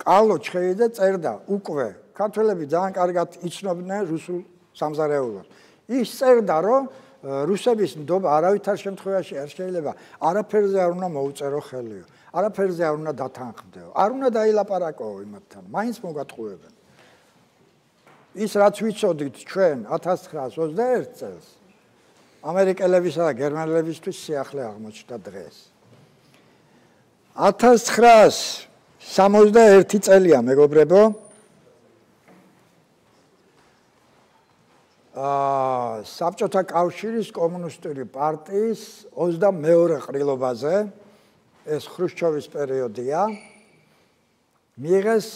კალო ჩხეიდე წერდა უკვე ქართველები ძალიან კარგად იცნობდნენ რუსულ სამზარეულოს. ის წერდა, რომ რუსების ნდობა არავითარ შემთხვევაში არ შეიძლება არაფერზე არ უნდა მოუწერო ხელიო, არაფერზე არ უნდა დათანხმდეო, არ უნდა დაილაპარაკოო იმათთან, მაინც მოგატყუებენ. ის რაც ვიცოდით ჩვენ ათას ცხრაას ოცდაერთ წელს ამერიკელებისა და გერმანელებისთვის სიახლე აღმოჩნდა დღეს. ათას ცხრაას სამოცდაერთი წელია, მეგობრებო. აა საბჭოთა კავშირის კომუნისტური პარტიის ოცდამეორე ყრილობაზე, ეს ხრუშჩოვის პერიოდია, მიიღეს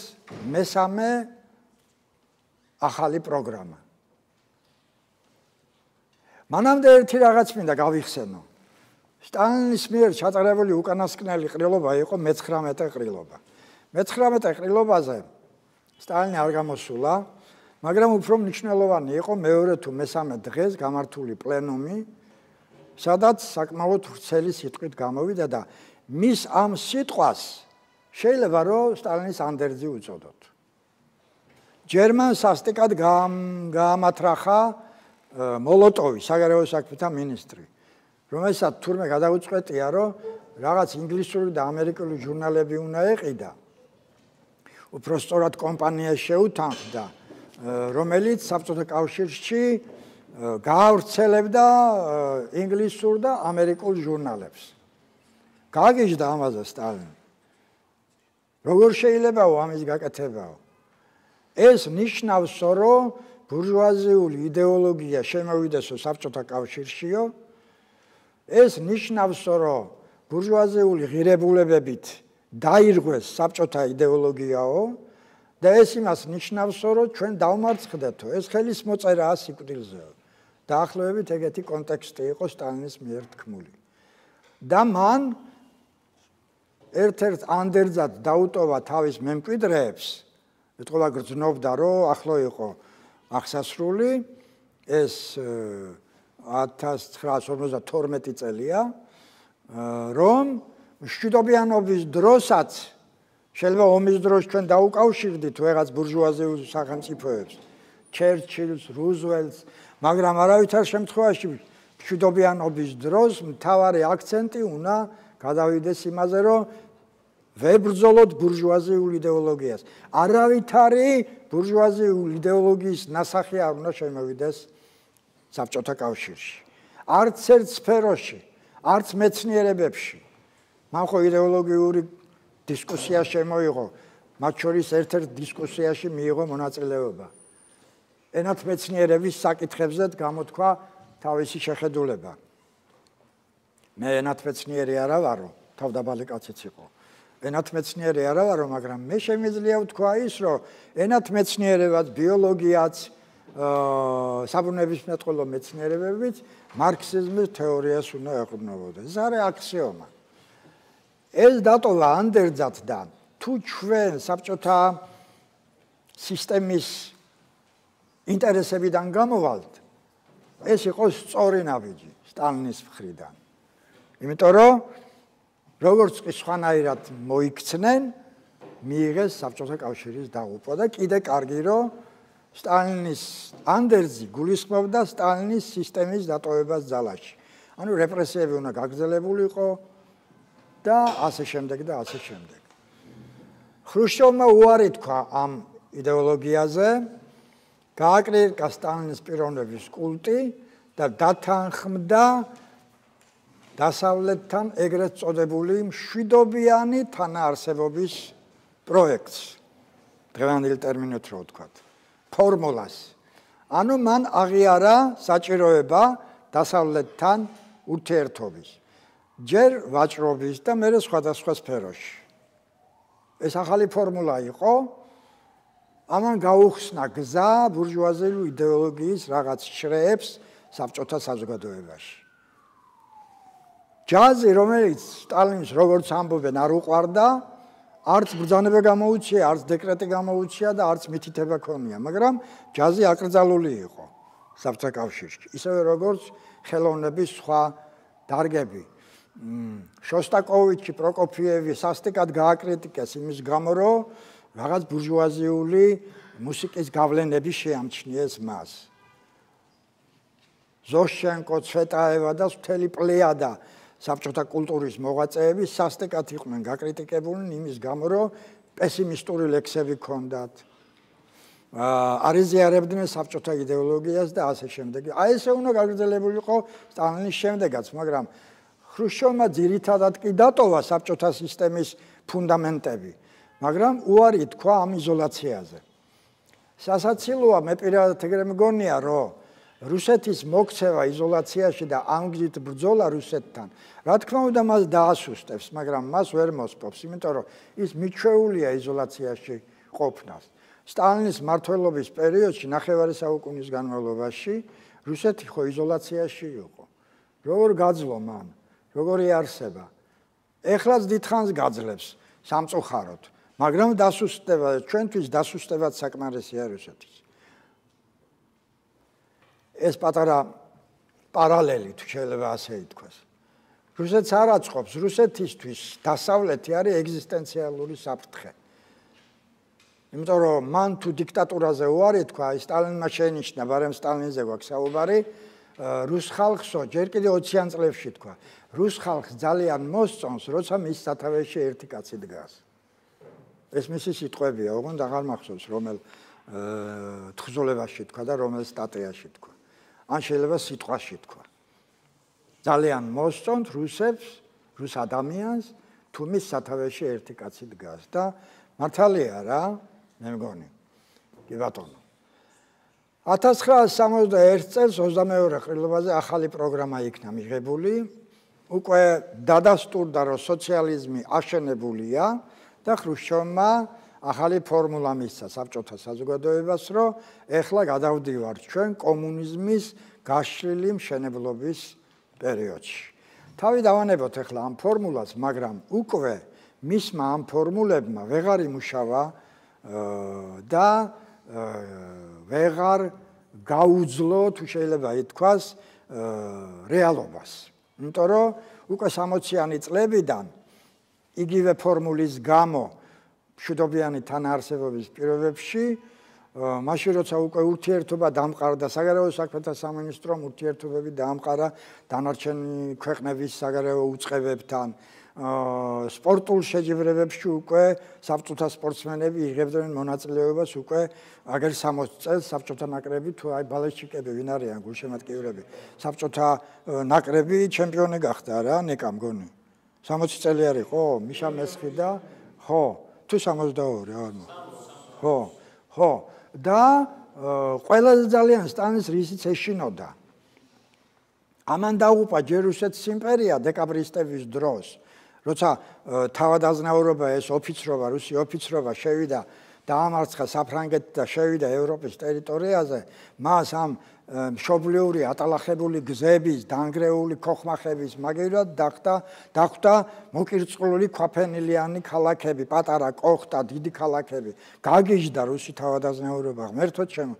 მესამე ახალი პროგრამა. მანამდე ერთი რაღაც მინდა გავიხსენო. სტალინის მიერ ჩატარებული უკანასკნელი ყრილობა იყო მეცხრამეტე ყრილობა. მეცხრამეტე ყრილობაზე სტალინი არ გამოსულა, მაგრამ უფრო მნიშვნელოვანი იყო მეორე თუ მესამე დღეს გამართული პლენუმი, სადაც საკმაოდ ვრცელი სიტყვით გამოვიდა და მის ამ სიტყვას შეიძლება რომ სტალინის ანდერძი უწოდოთ. ჯერმან სასტიკად გაამათრახა მოლოტოვი, საგარეო საქმეთა მინისტრი, რომელსაც თურმე გადაუწყვეტია, რომ რაღაც ინგლისური და ამერიკული ჟურნალები უნდა ეყიდა. უпростоრად კომპანიას შეუთანხმდა, რომელიც საბჭოთა კავშირში გაავრცელებდა ინგლისურ და ამერიკულ ჟურნალებს. გაგიჟდა ამაზე სტალინი. როგორ შეიძლებაო ამის გაკეთებაო? ეს ნიშნავს, რომ ბურჟუაზიული იდეოლოგია შემოვიდესო საბჭოთა კავშირშიო, ეს ნიშნავს, რომ ბურჟუაზიული ღირებულებებით დაირღვეს საბჭოთა იდეოლოგიაო და ეს იმას ნიშნავს, რომ ჩვენ დავმარცხდეთო, ეს ხელის მოწერაა სიკვდილზეო. დაახლოებით ეგეთი კონტექსტი იყო სტალინის მიერ თქმული. და მან ერთ-ერთ ანდერძად დაუტოვა თავის მემკვიდრეებს, ეთქობა გრძნობდა, რომ ახლო იყო აღსასრული, ეს ათას ცხრაას ორმოცდათორმეტი წელია, რომ მშვიდობიანობის დროსაც შეიძლება ომის დროს ჩვენ დაუკავშირდით ვეღაც ბურჟუაზიულ სახელმწიფოებს, ჩერჩილს, რუზველტს, მაგრამ არავითარ შემთხვევაში მშვიდობიანობის დროს მთავარი აქცენტი უნდა გადავიდეს იმაზე, რომ ვებრძოლოთ ბურჟუაზიულ იდეოლოგიას. არავითარი ბურჟუაზიულ იდეოლოგიის ნასახი არ უნდა შემოვიდეს საბჭოთა კავშირში. არც ერთ სფეროში, არც მეცნიერებებში. მან ხო იდეოლოგიური დისკუსია შემოიღო მათ შორის ერთ-ერთ დისკუსიაში მიიღო მონაწილეობა. ენათმეცნიერების საკითხებზე გამოთქვა თავისი შეხედულება. მე ენათმეცნიერი არა ვარო, თავდაბალი კაციც იყო. ენათმეცნიერი არა ვარო, მაგრამ მე შემიძლია ვთქვა ის, რომ ენათმეცნიერებაც, ბიოლოგიაც, საბუნებისმეტყველო მეცნიერებებიც მარქსიზმის თეორიას უნდა ეყრდნობოდეს. ეს არის აქსიომა. ეს დატოვა ანდერძად და თუ ჩვენ საბჭოთა სისტემის ინტერესებიდან გამოვალთ, ეს იყო სწორი ნაბიჯი სტალინის მხრიდან. იმიტომ რომ როგორც კი სხვანაირად მოიქცნენ, მიიღეს საბჭოთა კავშირის დაღუპვა და კიდე კარგი რომ სტალინის ანდერძი გულისხმობდა სტალინის სისტემის დატოვებას ძალაში. ანუ რეპრესიები უნდა გაგრძელებულიყო და ასე შემდეგ და ასე შემდეგ. ხრუშჩოვმა უარი თქვა ამ იდეოლოგიაზე, გააკრიტიკა სტალინის პიროვნების კულტი და დათანხმდა დასავლეთთან ეგრეთ წოდებული მშვიდობიანი თანაარსებობის პროექტს. დღევანდელი ტერმინით რო ვთქვათ, ფორმულას. ანუ მან აღიარა საჭიროება დასავლეთთან ურთიერთობის. ჯერ ვაჭრობის და მერე სხვადასხვა სფეროში. ეს ახალი ფორმულა იყო. ამან გაუხსნა გზა ბურჟუაზიული იდეოლოგიის რაღაც შრეებს საბჭოთა საზოგადოებაში. ჯაზი, რომელიც სტალინის როგორც ამბობენ არ უყვარდა, არც ბრძანება გამოუჩია, არც დეკრეტი გამოუჩია და არც მითითება ქონია, მაგრამ ჯაზი აკრძალული იყო საბჭოთა კავშირში. ისევე როგორც ხელოვნების სხვა დარგები. შოსტაკოვიჩი, პროკოფიევი სასტიკად გააკრიტიკეს იმის გამო, რომ რაღაც ბურჟუაზიული მუსიკის გავლენები შეამჩნიეს მას. ზოშჩენკო, ცვეტაევა და მთელი პლეიადა საბჭოთა კულტურის მოღვაწეები სასტიკად იყვნენ გაკრიტიკებულნი იმის გამო, რომ პესიმისტური ლექსები ჰქონდათ. არ ეზიარებდნენ საბჭოთა იდეოლოგიას და ასე შემდეგ. აი ესე უნდა გაგრძელებულიყო სტალინის შემდეგაც, მაგრამ ხრუშჩოვმა ძირითადად კი დატოვა საბჭოთა სისტემის ფუნდამენტები, მაგრამ უარი თქვა ამ იზოლაციაზე. სასაცილოა, მე პირადად ეგრე მგონია, რომ რუსეთის მოქცევა იზოლაციაში და ამ გზით ბრძოლა რუსეთთან, რა თქმა უნდა მას დაასუსტებს, მაგრამ მას ვერ მოსპობს, იმიტომ რომ ის მიჩვეულია იზოლაციაში ყოფნას. სტალინის მმართველობის პერიოდში, ნახევარი საუკუნის განმავლობაში, რუსეთი ხო იზოლაციაში იყო. როგორ გაძლო მან, როგორ იარსება. ეხლაც დიდხანს გაძლებს სამწუხაროდ, მაგრამ დასუსტება, ჩვენთვის დასუსტებად საკმარისია რუსეთის. ეს პატარა პარალელი თუ შეიძლება ასე ითქვას. რუსეთს არ აწყობს, რუსეთისთვის დასავლეთი არის ეგზისტენციალური საფრთხე. იმიტომ რომ მან თუ დიქტატურაზე უარი თქვა, სტალინმა შენიშნა, ბარემ სტალინზე გვაქვს საუბარი, რუს ხალხსო, ჯერ კიდე ოციან წლებში თქვა, რუს ხალხს ძალიან მოსწონს, როცა მის სათავეში ერთი კაცი დგას. ეს მისი სიტყვებია, ოღონდ აღარ მახსოვს, რომელ თხზულებაში თქვა და რომელ სტატიაში თქვა. ან შეიძლება სიტყვაში თქვა. ძალიან მოსწონთ რუსებს, რუს ადამიანს, თუ მის სათავეში ერთი კაცი დგას და მართალია რა, მე მგონი. კი ბატონო. ათას ცხრაას სამოცდაერთ წელს ოცდამეორე ყრილობაზე ახალი პროგრამა იქნა მიღებული. უკვე დადასტურდა, რომ სოციალიზმი აშენებულია და ხრუშჩოვმა ახალი ფორმულა მისცა საბჭოთა საზოგადოებას, რომ ეხლა გადავდივართ ჩვენ კომუნიზმის გაშლილი მშენებლობის პერიოდში. თავი დავანებოთ ეხლა ამ ფორმულას, მაგრამ უკვე მისმა ამ ფორმულებმა ვეღარ იმუშავა და ვეღარ გაუძლო, თუ შეიძლება ითქვას, რეალობას. იმიტომ რომ უკვე სამოციანი წლებიდან იგივე ფორმულის გამო მშვიდობიანი თანაარსებობის პირობებში, მაშინ როცა უკვე ურთიერთობა დამყარდა, საგარეო საქმეთა სამინისტრომ ურთიერთობები დაამყარა დანარჩენი ქვეყნების საგარეო უწყებებთან, სპორტულ შეჯიბრებებში უკვე საბჭოთა სპორტსმენები იღებდნენ მონაწილეობას უკვე აგერ სამოცი წელს საბჭოთა ნაკრები თუ აი ბალეშჩიკები ვინ არიან გულშემატკივრები, საბჭოთა ნაკრები ჩემპიონი გახდა რა, ნეკა მგონი. სამოცი წელი არ იყო, მიშა მესხი და ხო, თუ სამოცდაორი არ მოხდა. ხო, ხო. და ყველაზე ძალიან სტალინის რისიც ეშინოდა. ამან დაუყვა ჯერ რუსეთის იმპერია დეკაბრისტების დროს, როცა თავადაზნაურობა ეს ოფიცრობა, რუსი ოფიცრობა შევიდა დაამარცხა საფრანგეთი და შევიდა ევროპის ტერიტორიაზე, მას ამ მშობლიური ატალახებული გზების, დანგრეული ქოხმახების მაგივრად დახვდა დახვდა მოკირწყლული ქვაფენილიანი ქალაქები, პატარა კოხტა, დიდი ქალაქები. გაგიჟდა რუსი თავადაზნაურობა, ღმერთო ჩემო.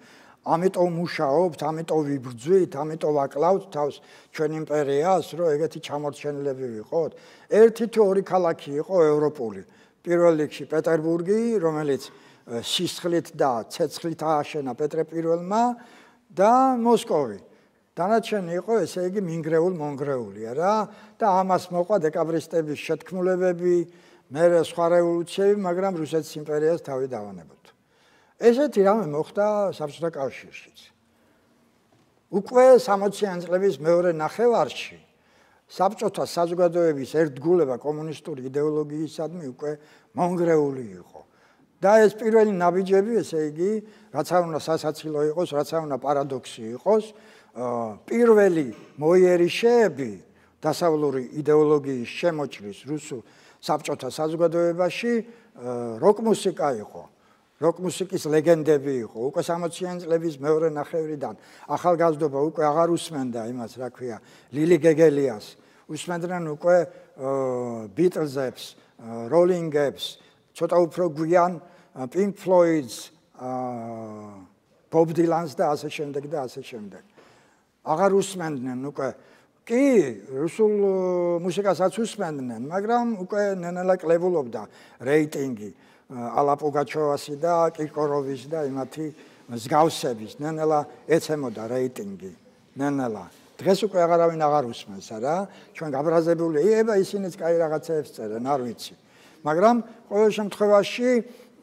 ამიტომ მუშაობთ, ამიტომ ვიბრძვით, ამიტომ ვაკლავთ თავს ჩვენ იმპერიას, რომ ეგეთი ჩამორჩენილები ვიყოთ. ერთი თუ ორი ქალაქი იყო ევროპული. პირველ რიგში პეტერბურგი, რომელიც სისხლით და ცეცხლით ააშენა პეტრე პირველმა და მოსკოვი. დანარჩენი იყო ესე იგი მინგრეულ მონგრეულია რა და ამას მოყვა დეკაბრისტების შეთქმულებები, მერე სხვა რევოლუციები, მაგრამ რუსეთის იმპერიას თავი დავანებოთ. ესეთი რამე მოხდა საბჭოთა კავშირშიც. უკვე სამოციანი წლების მეორე ნახევარში საბჭოთა საზოგადოების ერთგულება კომუნისტური იდეოლოგიისადმი უკვე მონგრეული იყო. და ეს პირველი ნაბიჯები, ესე იგი, რაც არ უნდა სასაცილო იყოს, რაც არ უნდა პარადოქსი იყოს, პირველი მოიერიშეები დასავლური იდეოლოგიის შემოჭრის რუსულ საბჭოთა საზოგადოებაში როკ მუსიკა იყო. როკ მუსიკის ლეგენდები იყო. უკვე სამოციანი წლების მეორე ნახევრიდან ახალგაზრდობა უკვე აღარ უსმენდა იმას, რა ქვია, ლილი გეგელიას. უსმენდნენ უკვე ბიტლზებს, როლინგებს, ცოტა უფრო გვიან Pink Floyd's, Bob Dylan's და ასე შემდეგ და ასე შემდეგ. აღარ უსმენდნენ უკვე. კი, რუსულ მუსიკასაც უსმენდნენ, მაგრამ უკვე ნენელა კლებულობდა რეიტინგი ალა პუგაჩოვასი და კირკოროვის და იმათი მსგავსების. ნენელა ეცემოდა რეიტინგი. ნენელა. დღეს უკვე აღარავინ აღარ უსმენს რა. ჩვენ გაბრაზებული, ება ისინიც კაი რაღაცეებს წერენ, არ ვიცი. მაგრამ ყოველ შემთხვევაში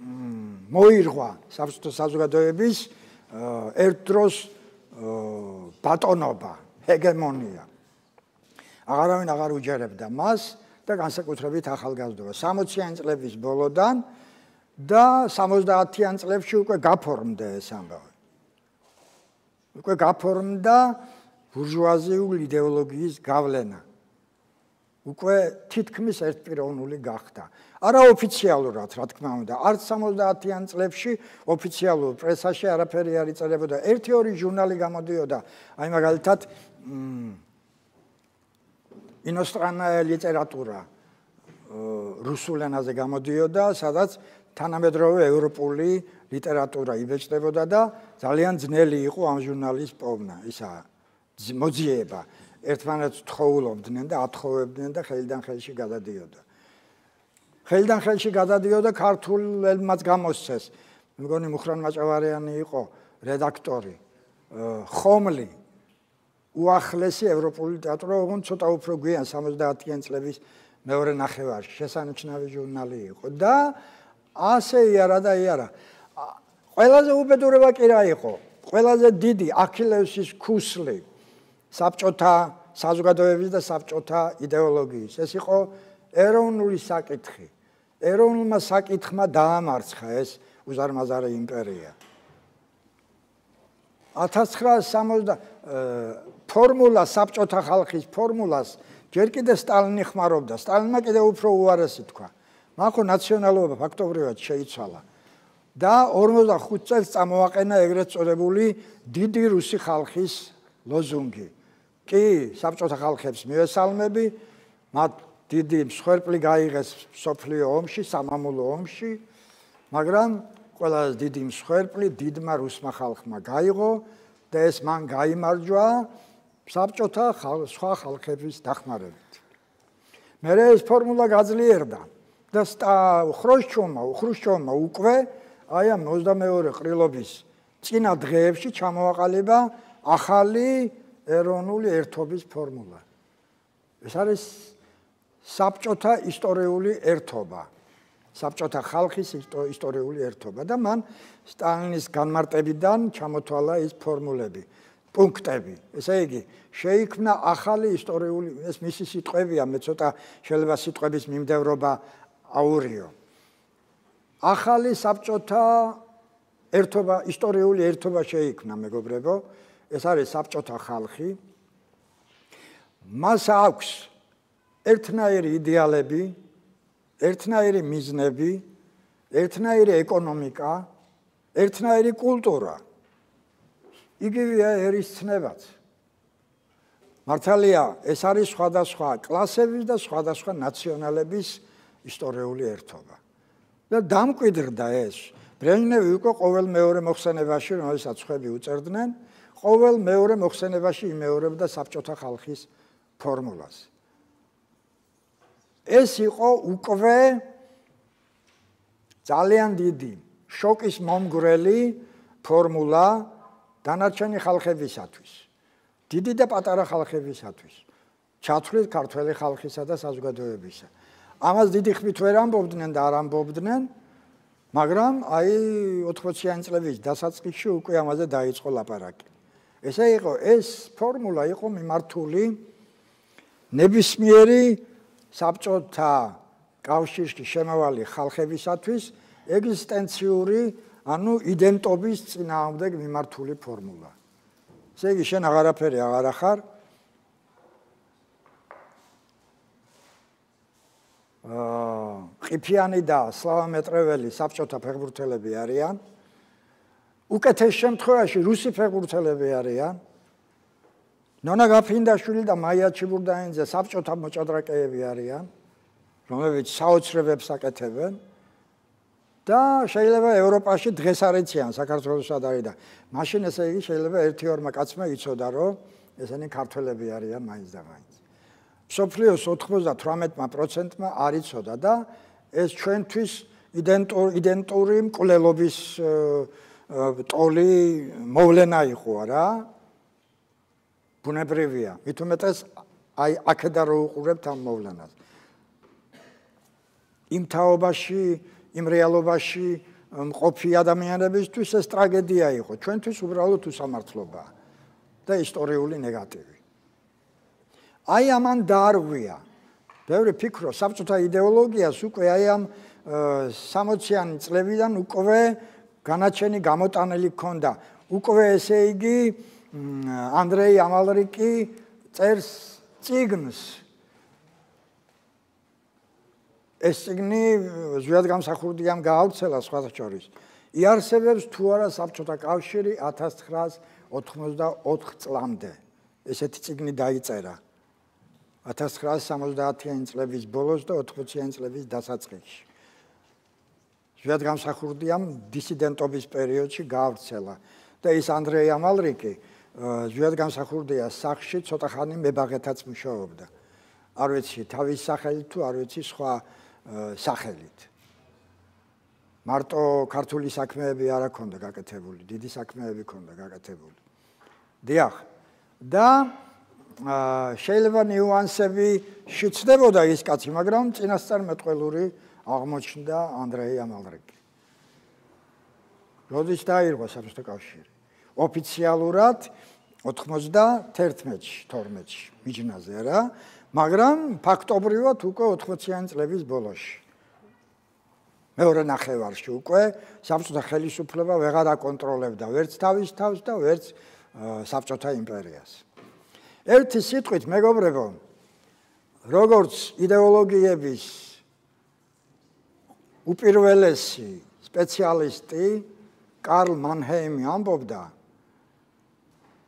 მოირღვა საბჭოთა საზოგადოების ერთ დროს ბატონობა, ჰეგემონია. აღარავინ აღარ უჯერებდა მას და განსაკუთრებით ახალგაზრდობა. სამოციანი წლების ბოლოდან და სამოცდაათიან წლებში უკვე გაფორმდა ეს ამბავი. უკვე გაფორმდა ბურჟუაზიული იდეოლოგიის გავლენა. უკვე თითქმის ერთპიროვნული გახდა. არაოფიციალურად, რა თქმა უნდა, არც სამოცდაათიან წლებში ოფიციალურ პრესაში არაფერი არ იწერებოდა. ერთი ორი ჟურნალი გამოდიოდა, აი მაგალითად ინოსტრანная ლიტერატურა რუსულ ენაზე გამოდიოდა, სადაც თანამედროვე ევროპული ლიტერატურა იბეჭდებოდა და ძალიან ძნელი იყო ამ ჟურნალის პოვნა, ისა მოძიება. ერთმანეთს თხოვულობდნენ და ათხოვებდნენ და ხელიდან ხელში გადადიოდა. ხელიდან ხელში გადადიოდა ქართულელმაც გამოსცეს. მეგონი მუხრან მაჭავარიანი იყო რედაქტორი. ხომლი უახლესი ევროპული ლიტერატურა, ოღონდ ცოტა უფრო გვიან სამოცდაათიან წლების მეორე ნახევარში შესანიშნავი ჟურნალი იყო და ასე იარა და იარა. ყველაზე უბედურება კი რა იყო? ყველაზე დიდი აქილევსის ქუსლი საბჭოთა საზოგადოების და საბჭოთა იდეოლოგიის. ეს იყო ეროვნული საკითხი. ეროვნულმა საკითხმა დაამარცხა ეს უზარმაზარი იმპერია. ათას ცხრაასი სამოცდა ფორმულა საბჭოთა ხალხის ფორმულას ჯერ კიდე სტალინი ხმარობდა. სტალინმა კიდე უფრო უარესი თქვა. მან ხო ნაციონალობა ფაქტობრივად შეიცვალა და ორმოცდახუთ წელს წამოაყენა ეგრეთ წოდებული დიდი რუსი ხალხის ლოზუნგი. კი, საბჭოთა ხალხებს მივესალმები, მათ დიდი მსხვერპლი გაიღეს მსოფლიო ომში, სამამულო ომში, მაგრამ ყველაზე დიდი მსხვერპლი დიდმა რუსმა ხალხმა გაიღო და ეს მან გაიმარჯვა საბჭოთა სხვა ხალხების დახმარებით. მერე ეს ფორმულა გაძლიერდა და ხრუშჩოვმა, ხრუშჩოვმა უკვე აი ამ ოცდამეორე ყრილობის წინა დღეებში ჩამოაყალიბა ახალი ეროვნული ერთობის ფორმულა. ეს არის საბჭოთა ისტორიული ერთობა. საბჭოთა ხალხის ისტორიული ერთობა და მან სტალინის განმარტებიდან ჩამოთვალა ის ფორმულები, პუნქტები. ესე იგი, შეიქმნა ახალი ისტორიული, ეს მისი სიტყვებია, მე ცოტა შეიძლება სიტყვების მიმდევრობა აურიო. ახალი საბჭოთა ერთობა, ისტორიული ერთობა შეიქმნა, მეგობრებო, ეს არის საბჭოთა ხალხი. მას აქვს ერთნაირი იდეალები, ერთნაირი მიზნები, ერთნაირი ეკონომიკა, ერთნაირი კულტურა. იგივეა ერისცნებაც. მართალია, ეს არის სხვადასხვა კლასების და სხვადასხვა ნაციონალების ისტორიული ერთობა. და დამკვიდრდა ეს. ბრეჟნევი უკვე ყოველ მეორე მოხსენებაში, რომელსაც ხვები უწერდნენ, ყოველ მეორე მოხსენებაში იმეორებდა საბჭოთა ხალხის ფორმულას. ეს იყო უკვე ძალიან დიდი შოკის მომგვრელი ფორმულა დანარჩენი ხალხებისათვის. დიდი და პატარა ხალხებისათვის. ჩათვლით ქართველი ხალხისა და საზოგადოებისა. ამას დიდი ხმით ვერ ამბობდნენ და არ ამბობდნენ, მაგრამ აი ოთხმოციანი წლების დასაწყისში უკვე ამაზე დაიწყო ლაპარაკი. ესე იყო, ეს ფორმულა იყო მიმართული ნებისმიერი საბჭოთა კავშირში შემავალი ხალხებისათვის ეგზისტენციური, ანუ იდენტობის წინააღმდეგ მიმართული ფორმულა. ესე იგი, შენ აღარაფერი აღარ ახარ. აა ყიფიანი და სლავამეტრეველი საბჭოთა ფეხბურთელები არიან. უკეთეს შემთხვევაში რუსი ფეხბურთელები არიან. ნონა გაფრინდაშვილი და მაია ჩიბურდანიძე საბჭოთა მოჭადრაკეები არიან, რომლებიც საოცრებებს აკეთებენ და შეიძლება ევროპაში დღეს არ იციან საქართველოს სად არის და მაშინ ესე იგი შეიძლება ერთი ორმა კაცმა იცოდა, რომ ესენი ქართველები არიან მაინც და მაინც. მსოფლიოს ოცდათვრამეტ პროცენტმა არ იცოდა და ეს ჩვენთვის იდენტური მკვლელობის ტოლი მოვლენა იყო რა. ბუნებრივია, მით უმეტეს აი აქედან რო უყურებთ ამ მოვლენას. იმ თაობაში, იმ რეალობაში მყოფი ადამიანებისთვის ეს ტრაგედია იყო, ჩვენთვის უბრალოდ უსამართლობაა და ისტორიული ნეგატივი. აი ამან დაარღვია. ბევრი ფიქრობს, საბჭოთა იდეოლოგიას უკვე აი ამ სამოციანი წლებიდან უკვე განაჩენი გამოტანილი ჰქონდა. უკვე ესე იგი ანდრეი ამალრიკი წერს წიგნს. ეს წიგნი ზვიად გამსახურდიამ გაავრცელა სხვათა შორის. იარსებებს თუ არა საბჭოთა კავშირი ათას ცხრაას ოთხმოცდაოთხ წლამდე. ესეთი წიგნი დაიწერა. ათას ცხრაას სამოცდაათიანი წლების ბოლოს და ოთხმოციანი წლების დასაწყისში. ზვიად გამსახურდიამ დისიდენტობის პერიოდში გაავრცელა და ის ანდრეი ამალრიკი ზვიად გამსახურდიას სახლში ცოტა ხანი მებაღეთაც მუშაობდა. არ ვიცი თავის სახელით თუ არ ვიცი სხვა სახელით. მარტო ქართული საქმეები არ აქონდა გაკეთებული, დიდი საქმეები ქონდა გაკეთებული. დიახ. და შეიძლება ნიუანსები შეცდებოდა ის კაცი, მაგრამ წინასწარმეტყველური აღმოჩნდა ანდრეი ამალრიკი. როდის დაირღვა საბჭოთა კავშირი? ოფიციალურად ოთხმოცდათერთმეტში, თორმეტში მიჯნაზე რა, მაგრამ ფაქტობრივად უკვე ოთხმოციანი წლების ბოლოში. მეორე ნახევარში უკვე საბჭოთა ხელისუფლება ვეღარ აკონტროლებდა ვერც თავის თავს და ვერც საბჭოთა იმპერიას. ერთი სიტყვით, მეგობრებო, როგორც იდეოლოგიების უპირველესი სპეციალისტი კარლ მანჰეიმი ამბობდა,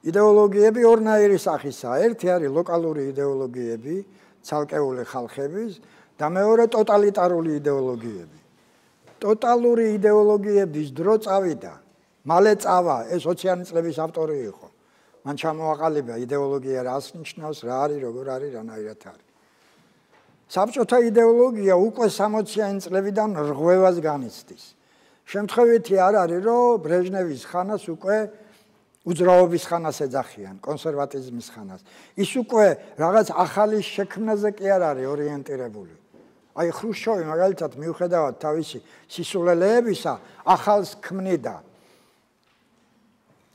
იდეოლოგიები ორნაირი სახისაა. ერთი არის ლოკალური იდეოლოგიები, ცალკეული ხალხების და მეორე ტოტალიტარული იდეოლოგიები. ტოტალური იდეოლოგიების დრო წავიდა, მალე წავა, ეს ოციანი წლების ავტორი იყო. მან ჩამოაყალიბა იდეოლოგია რას ნიშნავს, რა არის, როგორ არის, რანაირად არის. საბჭოთა იდეოლოგია უკვე სამოციანი წლებიდან რღვევას განიცდის. შემთხვევითი არ არის, რომ ბრეჟნევის ხანას უკვე უძრაობის ხანას ეძახიან, კონსერვატიზმის ხანას. ის უკვე რაღაც ახალის შექმნაზე კი არ არის ორიენტირებული. აი ხრუშჩოვი მაგალითად მიუხედავად თავისი სისულელეებისა, ახალს ქმნიდა.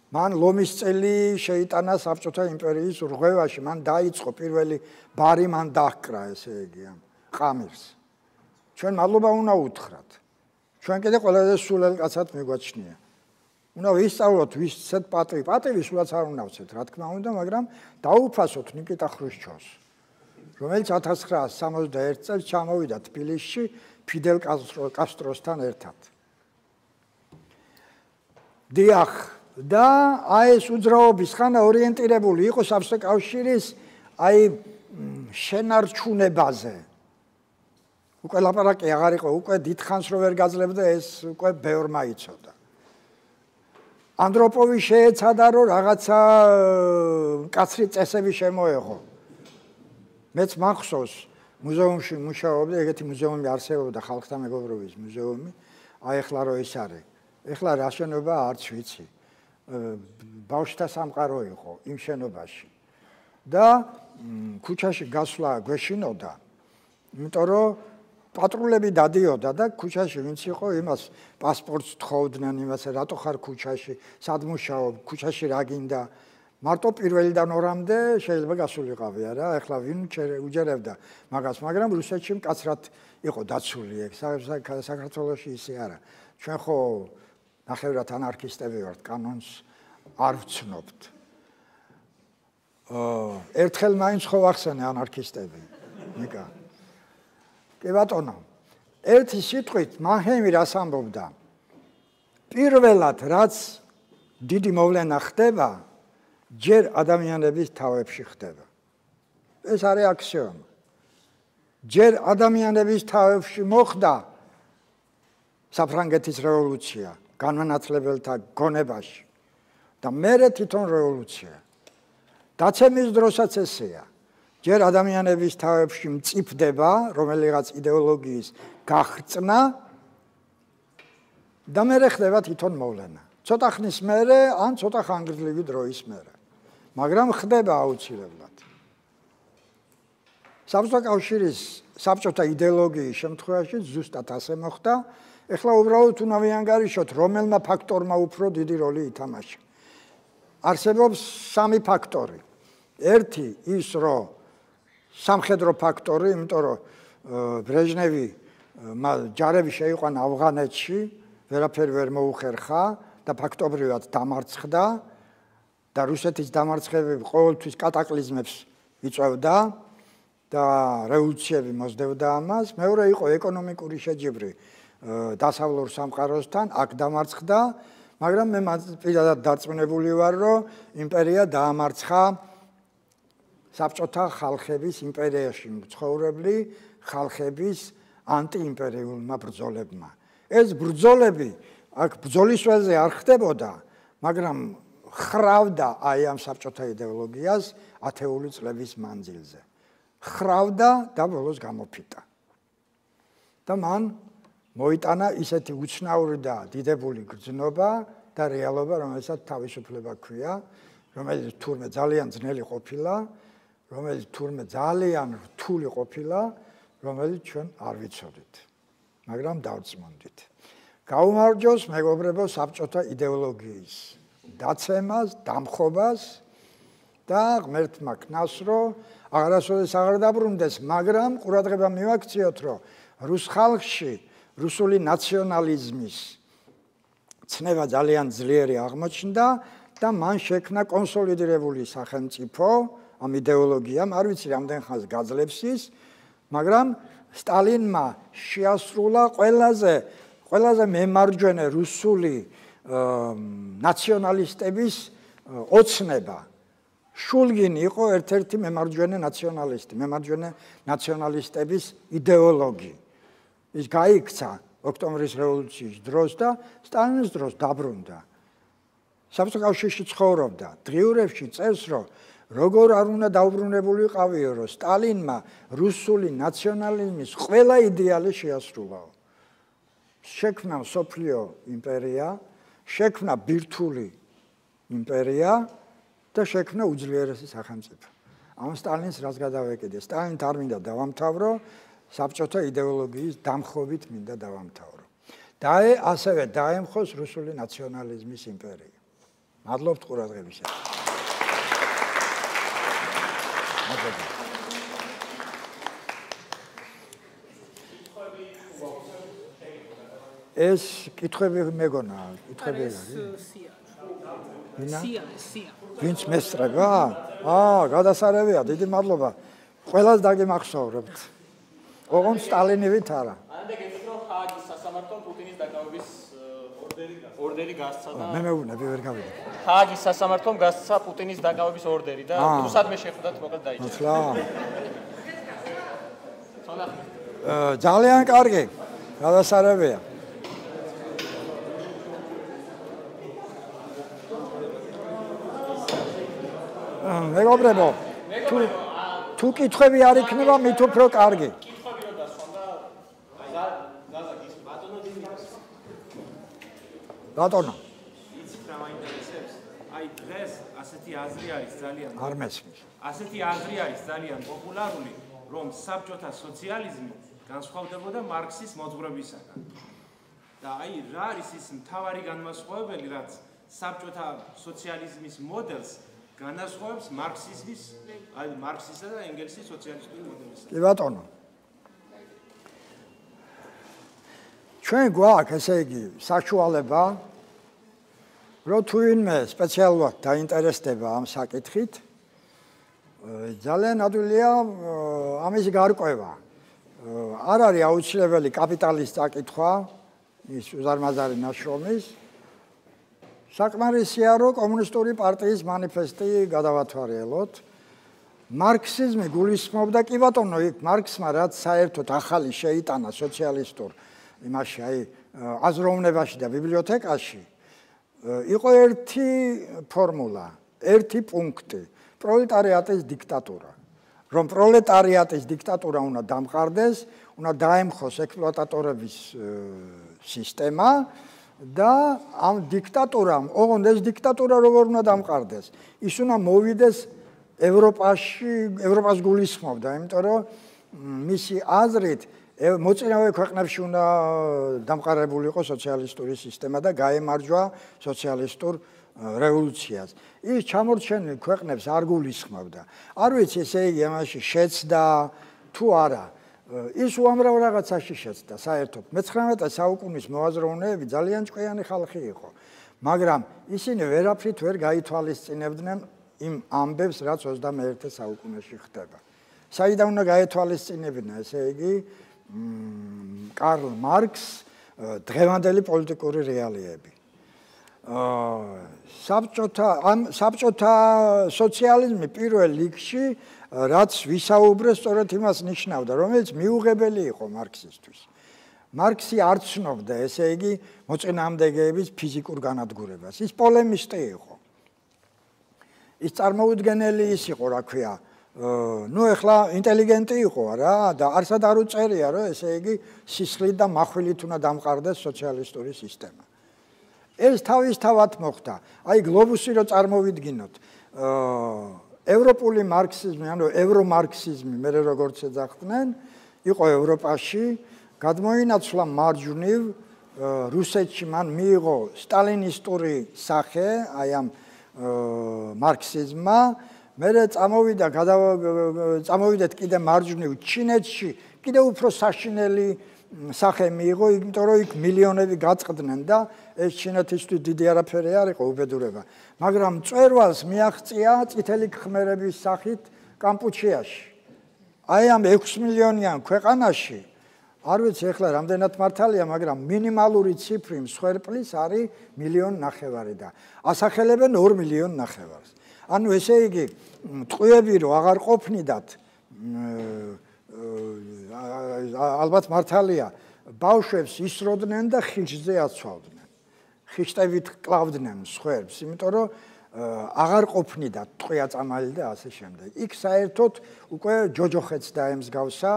მან ლომის წელი შეიტანა საბჭოთა იმპერიის რღვევაში, მან დაიწყო პირველი ბარი, მან დაჰკრა, ესე იგი, ყამირს. ჩვენ მადლობა უნდა უთხრათ. ჩვენ კიდე ყველაზე სულელ კაცად მიგვაჩნია. უნდა ვისწავლოთ ვისცეთ პატივი. პატივი სულაც არ უნდა ვცეთ, რა თქმა უნდა, მაგრამ დაუფასოთ ნიკიტა ხრუშჩოვს, რომელიც ათას ცხრაასი სამოცდაერთი წელს ჩამოვიდა თბილისში ფიდელ კასტროსთან ერთად. დიახ, და აი ეს უძრაობის ხანა ორიენტირებული იყო საბჭოთა კავშირის აი შენარჩუნებაზე. უკვე ლაპარაკი აღარ იყო, უკვე დიდხანს რო ვერ გაძლევდა ეს უკვე ბევრმა იცოდა. ანდროპოვი შეეცადა რომ რაღაცა კაცრი წესები შემოეღო. მეც მახსოვს მუზეუმში მუშაობდი, ეგეთი მუზეუმი არსებობდა ხალხთა მეგობრობის მუზეუმი, აი ახლა რო ის არის. ეხლა რა შენობა არც ვიცი. ბავშვთა სამყარო იყო იმ შენობაში. და ქუჩაში გასვლა გვეშინოდა, იმიტომ რომ პატრულები დადიოდა და ქუჩაში ვინც იყო, იმას პასპორტს თხოვდნენ, იმას რატო ხარ ქუჩაში, სად მუშაობ, ქუჩაში რა გინდა. მარტო პირველიდან ორამდე შეიძლება გასულიყავი არა, ეხლა ვინ უჯერებდა მაგას, მაგრამ რუსეთში მკაცრად იყო დაცული ეგ, საქართველოში ისე არა. ჩვენ ხო ნახევრად ანარქისტები ვართ, კანონს არ ვცნობთ. ერთხელ მაინც ხო ვახსენე ანარქისტები, ნიკა. კი ბატონო, ერთი სიტყვით მანჰეიმი რას ამბობდა? პირველად რაც დიდი მოვლენა ხდება, ჯერ ადამიანების თავებში ხდება. ეს არის აქსიომა. ჯერ ადამიანების თავებში მოხდა საფრანგეთის რევოლუცია განმანათლებელთა გონებაში და მერე თვითონ რევოლუცია. დაცემის დროსაც ესეა. ჯერ ადამიანების თავებში მწიფდება რომელიღაც იდეოლოგიის გახრწნა და მერე ხდება თვითონ მოვლენა. ცოტა ხნის მერე ან ცოტა ხანგრძლივი დროის მერე. მაგრამ ხდება აუცილებლად. საბჭოთა კავშირის საბჭოთა იდეოლოგიის შემთხვევაში ზუსტად ასე მოხდა. ეხლა უბრალოდ უნდა ვიანგარიშოთ, რომელმა ფაქტორმა უფრო დიდი როლი ითამაშა. არსებობს სამი ფაქტორი. ერთი ის, რომ სამხედრო ფაქტორი, იმიტომ რომ ბრეჟნევი ჯარები შეიყვანა ავღანეთში, ვერაფერი ვერ მოუხერხა და ფაქტობრივად დამარცხდა და რუსეთის დამარცხებები ყოველთვის კატაკლიზმებს იწვევდა და რევოლუციები მოსდევდა ამას. მეორე იყო ეკონომიკური შეჯიბრი დასავლურ სამყაროსთან, აქ დამარცხდა, მაგრამ მე პირადად დარწმუნებული ვარ, რომ იმპერია დაამარცხა საბჭოთა ხალხების იმპერიაში მცხოვრებლი ხალხების ანტიიმპერიულმა ბრძოლებმა. ეს ბრძოლები აქ ბრძოლის ველზე არ ხდებოდა, მაგრამ ხრავდა აი ამ საბჭოთა იდეოლოგიას ათეული წლების მანძილზე. ხრავდა და ბოლოს გამოფიტა. და მან მოიტანა ისეთი უცნაური და დიდებული გრძნობა და რეალობა, რომელსაც თავისუფლება ჰქვია, რომელიც თურმე ძალიან ძნელი ყოფილა, რომელიც თურმე ძალიან რთული ყოფილა, რომელიც ჩვენ არ ვიცოდით, მაგრამ დავწმუნდით. გაუმარჯოს მეგობრებო საბჭოთა იდეოლოგიის დაცემას, დამხობას და ღმერთმა ქნას, რომ აღარასოდეს აღარ დაბრუნდეს, მაგრამ ყურადღება მივაქციოთ, რომ რუს ხალხში რუსული ნაციონალიზმის ცნება ძალიან ძლიერი აღმოჩნდა და მან შექმნა კონსოლიდირებული სახელმწიფო ამ იდეოლოგიამ, არ ვიცი რამდენ ხანს გაძლებს ის, მაგრამ სტალინმა შეასრულა ყველაზე ყველაზე მემარჯვენე რუსული ნაციონალისტების ოცნება. შულგინი იყო ერთ-ერთი მემარჯვენე ნაციონალისტი, მემარჯვენე ნაციონალისტების იდეოლოგი. ის გაიქცა ოქტომბრის რევოლუციის დროს და სტალინის დროს დაბრუნდა. საბჭოთა კავშირში ცხოვრობდა, დღიურებში წერს, რომ როგორ არ უნდა დაუბრუნებულიყავიო, რომ სტალინმა რუსული ნაციონალიზმის ყველა იდეალი შეასრულაო. შექმნა მსოფლიო იმპერია, შექმნა ბირთვული იმპერია და შექმნა უძლიერესი სახელმწიფო. ამ სტალინს რაც გადავეკიდე, სტალინით არ მინდა დავამთავრო, საბჭოთა იდეოლოგიის დამხობით მინდა დავამთავრო. და ასევე დაემხოს რუსული ნაციონალიზმის იმპერია. მადლობთ ყურადღებისათვის. ეს კითხვები მეგონა, კითხვები არის. სია, სია. ვინც მესწრება? აა, გადასარევია, დიდი მადლობა. ყველას დაგიმახსოვრებთ. ოღონდ სტალინივით არა. ანდა გეტყვით რომ ჰააგის სასამართლომ პუტინის დაკავების ორდერი გასცა და მე მეუბნები ვერ გავიგე. ჰააგის სასამართლომ გასცა პუტინის დაკავების ორდერი და რუსადმე შეხვდათ მოკლედ დაიჭირა. ახლა. ძალიან კარგი. გადასარევია. მეგობრებო, თუ თუ კითხვები არ იქნება, მით უფრო კარგი. კითხვები რო დასვანდა ზაზა ის ბატონო დინიოს. ბატონო. იცით რა მაინტერესებს? აი დღეს ასეთი აზრი არის ძალიან არ მესმის. ასეთი აზრი არის ძალიან პოპულარული, რომ საბჭოთა სოციალიზმი განსხვავდებოდა მარქსის მოძღვრებისაგან. და აი რა არის ის მთავარი განმასხვავებელი, რაც საბჭოთა სოციალიზმის მოდელს განასხვავებს მარქსიზმის, აი მარქსისა და ენგელსის სოციალისტური მოდელისგან. კი ბატონო. ჩვენ გვაქვს, ესე იგი, საშუალება, რომ თუ ვინმე სპეციალურად დაინტერესდება ამ საკითხით, ძალიან ადვილია ამის გარკვევა. არ არის აუცილებელი კაპიტალის წაკითხვა, ის უზარმაზარი ნაშრომის. საკმარისია, რომ კომუნისტური პარტიის მანიფესტი გადავათვალოთ. მარქსიზმი გულისხმობდა, კი ბატონო, იქ მარქსმა რაც საერთოდ ახალი შეიტანა სოციალისტურ იმაში, აი, აზროვნებაში და ბიბლიოთეკაში, იყო ერთი ფორმულა, ერთი პუნქტი, პროლეტარიატის დიქტატურა. რომ პროლეტარიატის დიქტატურა უნდა დამყარდეს, უნდა დაემხოს ექსპლუატატორების სისტემა და ამ დიქტატურამ, ოღონდ ეს დიქტატურა როგორ უნდა დამყარდეს? ის უნდა მოვიდეს ევროპაში, ევროპას გულისხმობდა, იმიტომ რომ მისი აზრით მოწინავე ქვეყნებში უნდა დამყარებული იყოს სოციალისტური სისტემა და გაემარჯვა სოციალისტურ რევოლუციას. ის ჩამორჩენილ ქვეყნებს არ გულისხმობდა. არ ვიცი, ესე იგი, ამაში შეცდა თუ არა. ის უამრავ რაღაცაში შეცდა, საერთოდ. მეცხრამეტე საუკუნის მოაზროვნეები ძალიან ჭკვიანი ხალხი იყო, მაგრამ ისინი ვერაფრით ვერ გაითვალისწინებდნენ იმ ამბებს, რაც ოცდამეერთე საუკუნეში ხდება. საიდან უნდა გაეთვალისწინებინა, ესე იგი, კარლ მარქს დღევანდელი პოლიტიკური რეალიები. საბჭოთა ამ საბჭოთა სოციალიზმი პირველ რიგში რაც ვისაუბრე, სწორედ იმას ნიშნავდა, რომელიც მიუღებელი იყო მარქსისთვის. მარქსი არ ცნობდა, ესე იგი, მოწინააღმდეგეების ფიზიკურ განადგურებას. ის პოლემისტი იყო. ის წარმოუდგენელი ის იყო, რა ქვია, ნუ ეხლა ინტელიგენტი იყო რა და არსად არ უწერია, რომ ესე იგი, სისხლით და מחვილით უნდა დამყარდეს სოციალისტური სისტემა. ეს თავისთავად მოხდა. აი გლობუსი რო წარმოვიდგინოთ, ევროპული მარქსიზმი, ანუ ევრომარქსიზმი, მე როგორც ეძახდნენ, იყო ევროპაში, გადმოინაცვლა მარჯვნივ, რუსეთში მან მიიღო სტალინისტური სახე, აი ამ მარქსიზმმა, მერე წამოვიდა, წამოვიდეთ კიდე მარჯვნივ ჩინეთში, კიდე უფრო საშინელი სახე მიიღო, იმიტომ რომ იქ მილიონები გაწყდნენ და ეს ჩინეთისთვის დიდი არაფერი არ იყო უბედურება. მაგრამ მწვერვალს მიაღწია წითელი ხმერების სახით კამპუჩიაში. აი ამ ექვსი მილიონიან ქვეყანაში, არ ვიცი ეხლა რამდენად მართალია, მაგრამ მინიმალური ციფრი მსხვერპლის არის მილიონ ნახევარი და ასახელებენ ორ მილიონ ნახევარს. ანუ ესე იგი, ტყვიები რო აღარ ყოფნიდათ, ალბათ მართალია, ბავშვებს ისროდნენ და ხიჭზე აცვავდნენ. ხიჭებით კლავდნენ მსხვერპლს, იმიტომ რომ აღარ ყოფნიდა ტყვია წამალი და ასე შემდეგ. იქ საერთოდ უკვე ჯოჯოხეთს დაემსგავსა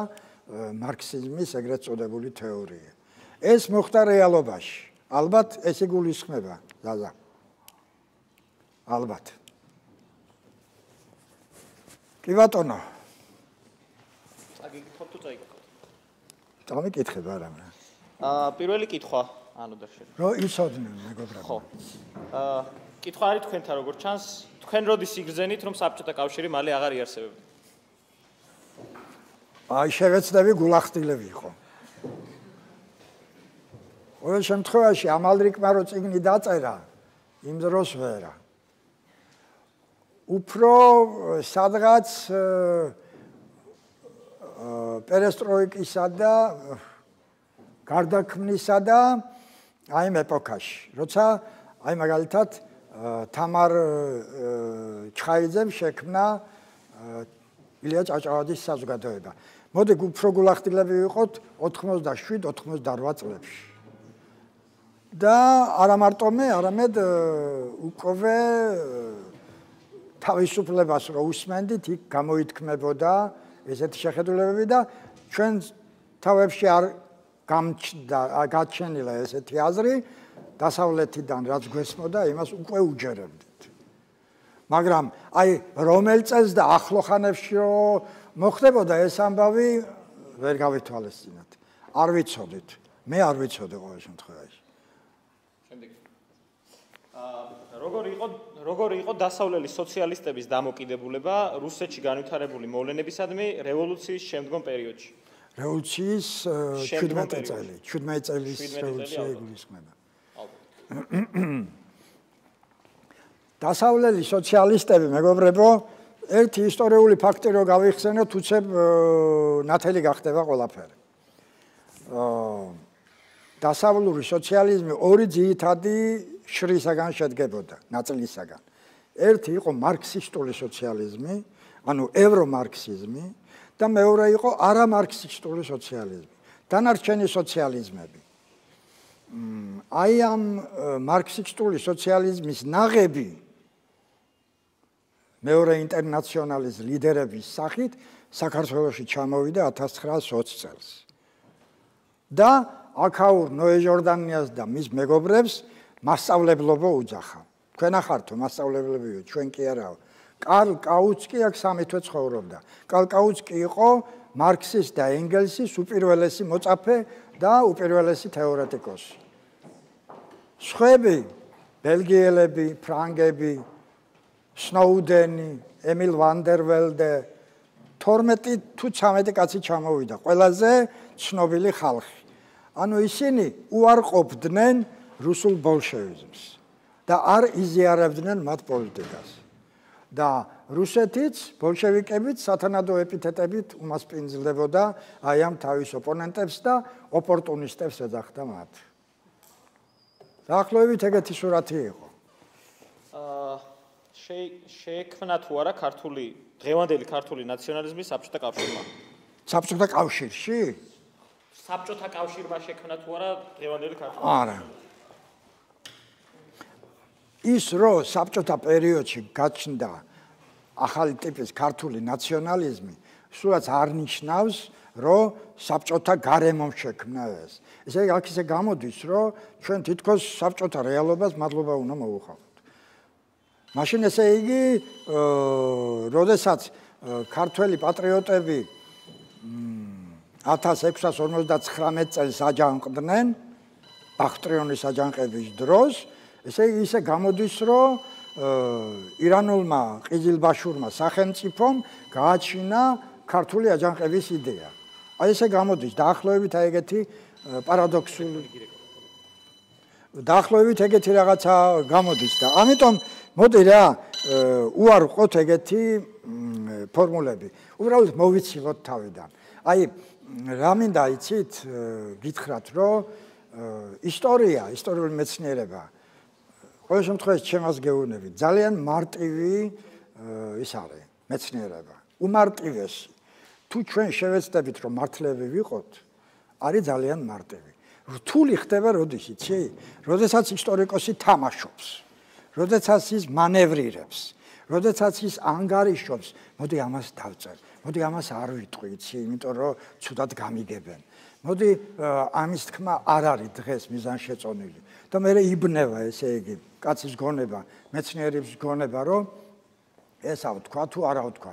მარქსიზმის ეგრეთ წოდებული თეორია. ეს მოხდა რეალობაში. ალბათ ეს იგულისხმება, ზაზა. ალბათ. კი ბატონო. წაგიკითხოთ თუ წაიკითხოთ? წამიკითხებ არა მე. აა პირველი კითხვა, ანუ და შენ. რო იცოდნენ მეგობრებო. ხო. აა კითხვა არის თქვენთან როგორ ჩანს, თქვენ როდის იგრძენით რომ საბჭოთა კავშირი მალე აღარ იარსებებდა? აი შევეცდები გულახდილები იყო. ყოველ შემთხვევაში ამალრიკმა რო წიგნი დაწერა, იმ დროს ვერა. უფრო სადღაც პერესტროიკისა და გარდაქმნისა და აი ამ ეპოქაში, როცა აი მაგალითად თამარ ჩხაიძემ შექმნა ილია ჭავჭავაძის საზოგადოება. მოდი უფრო გულახდილები ვიყოთ ოთხმოცდაშვიდ ოთხმოცდაოთხ წლებში. და არა მარტო მე, არამედ უკვე თავისუფლებას რო უსმენდით, იქ გამოითქმებოდა ესეთი შეხედულებები და ჩვენ თავებში არ გამჩნდა, გაჩენილა ესეთი აზრი, დასავლეთიდან რაც გვესმოდა, იმას უკვე უჯერებდით. მაგრამ აი რომელ წელს და ახლოხანებში რო მოხდებოდა ეს ამბავი, ვერ გავითვალისწინეთ. არ ვიცოდით. მე არ ვიცოდი ყოველ შემთხვევაში. როგორი იყო როგორი იყო დასავლელი სოციალისტების დამოკიდებულება რუსეთში განვითარებული მოვლენებისადმი რევოლუციის შემდგომ პერიოდში? რევოლუციის შვიდმეტი წელი, შვიდმეტი წელის რევოლუცია იგულისხმება. დასავლელი სოციალისტები, მეგობრებო, ერთი ისტორიული ფაქტი რო გავიხსენოთ, უცებ ნათელი გახდება ყველაფერი. დასავლური სოციალიზმი ორი ძირითადი შრისაგან შედგებოდა, ნაწილისაგან. ერთი იყო მარქსისტული სოციალიზმი, ანუ ევრომარქსიზმი და მეორე იყო არამარქსისტული სოციალიზმი. დანარჩენი სოციალიზმები. აი ამ მარქსისტული სოციალიზმის ნაღები მეორე ინტერნაციონალის ლიდერების სახით საქართველოში ჩამოვიდა ათას ცხრაასი ოცი წელს. და აქაურ ნოე ჟორდანიას და მის მეგობრებს მასწავლებლობა უძახა. თქვენ ახართო მასწავლებლებიო, ჩვენ კი არაო. კარლ კაუცკი აქ სამი თვე ცხოვრობდა. კარლ კაუცკი იყო მარქსის და ენგელსის უპირველესი მოწაფე და უპირველესი თეორეტიკოსი. სხვები, ბელგიელები, ფრანგები, სნოუდენი, ემილ ვანდერველდე, თორმეტი თუ ცამეტი კაცი ჩამოვიდა, ყველაზე ცნობილი ხალხი. ანუ ისინი უარყოფდნენ რუსულ ბოლშევიზმს და არ იზიარებდნენ მათ პოლიტიკას. და რუსეთიც, ბოლშევიკებიც სათანადო ეპითეტებით უმასპინძლდებოდა აი ამ თავის ოპონენტებს და ოპორტუნისტებს ეძახდა მათ. დაახლოებით ეგეთი სურათი იყო. აა შეექმნა თუ არა ქართული დღევანდელი ქართული ნაციონალიზმის საბჭოთა კავშირმა? საბჭოთა კავშირში? საბჭოთა კავშირმა შექმნა თუ არა დღევანდელი ქართული? არა. ის რო საბჭოთა პერიოდში გაჩნდა ახალი ტიპის ქართული ნაციონალიზმი, სულაც არ ნიშნავს, რომ საბჭოთა გარემომ შექმნა ეს. ესე იგი, აქ ისე გამოდის, რომ ჩვენ თითქოს საბჭოთა რეალობას მადლობა უნდა მოუხავთ. მაშინ ესე იგი, როდესაც ქართველი პატრიოტები ათას ექვსას ორმოცდაცხრამეტ წელს აჯანყდნენ ბახტრიონის აჯანყების დროს, ესე იგი ისე გამოდის, რომ ირანულმა ყიზილბაშურმა სახელმწიფომ გააჩინა ქართული აჯანყების იდეა. აი ესე გამოდის დაახლოებით აი ეგეთი პარადოქსული დაახლოებით ეგეთი რაღაცა გამოდის და ამიტომ მოდი რა უარყოთ ეგეთი ფორმულები. უბრალოდ მოვიცილოთ თავიდან. აი რა მინდა იცით გითხრათ, რომ ისტორია, ისტორიული მეცნიერება ყოველ შემთხვევაში ჩემს გეუბნებით, ძალიან მარტივი ის არის მეცნიერება. უმარტივესი. თუ ჩვენ შევეცდებით, რომ მართლები ვიყოთ, არის ძალიან მარტივი. რთული ხდება როდის იცი? როდესაც ისტორიკოსი თამაშობს, როდესაც ის მანევრირებს, როდესაც ის ანგარიშობს, მოდი ამას დავწერ, მოდი ამას არ ვიტყვი, იცი, იმიტომ რომ ცუდად გამიგებენ. მოდი ამის თქმა არ არის დღეს მიზანშეწონილი. და მე იბნევა ესე იგი კაცის გონება, მეცნიერების გონება, რომ ესა ვთქვა თუ არა ვთქვა.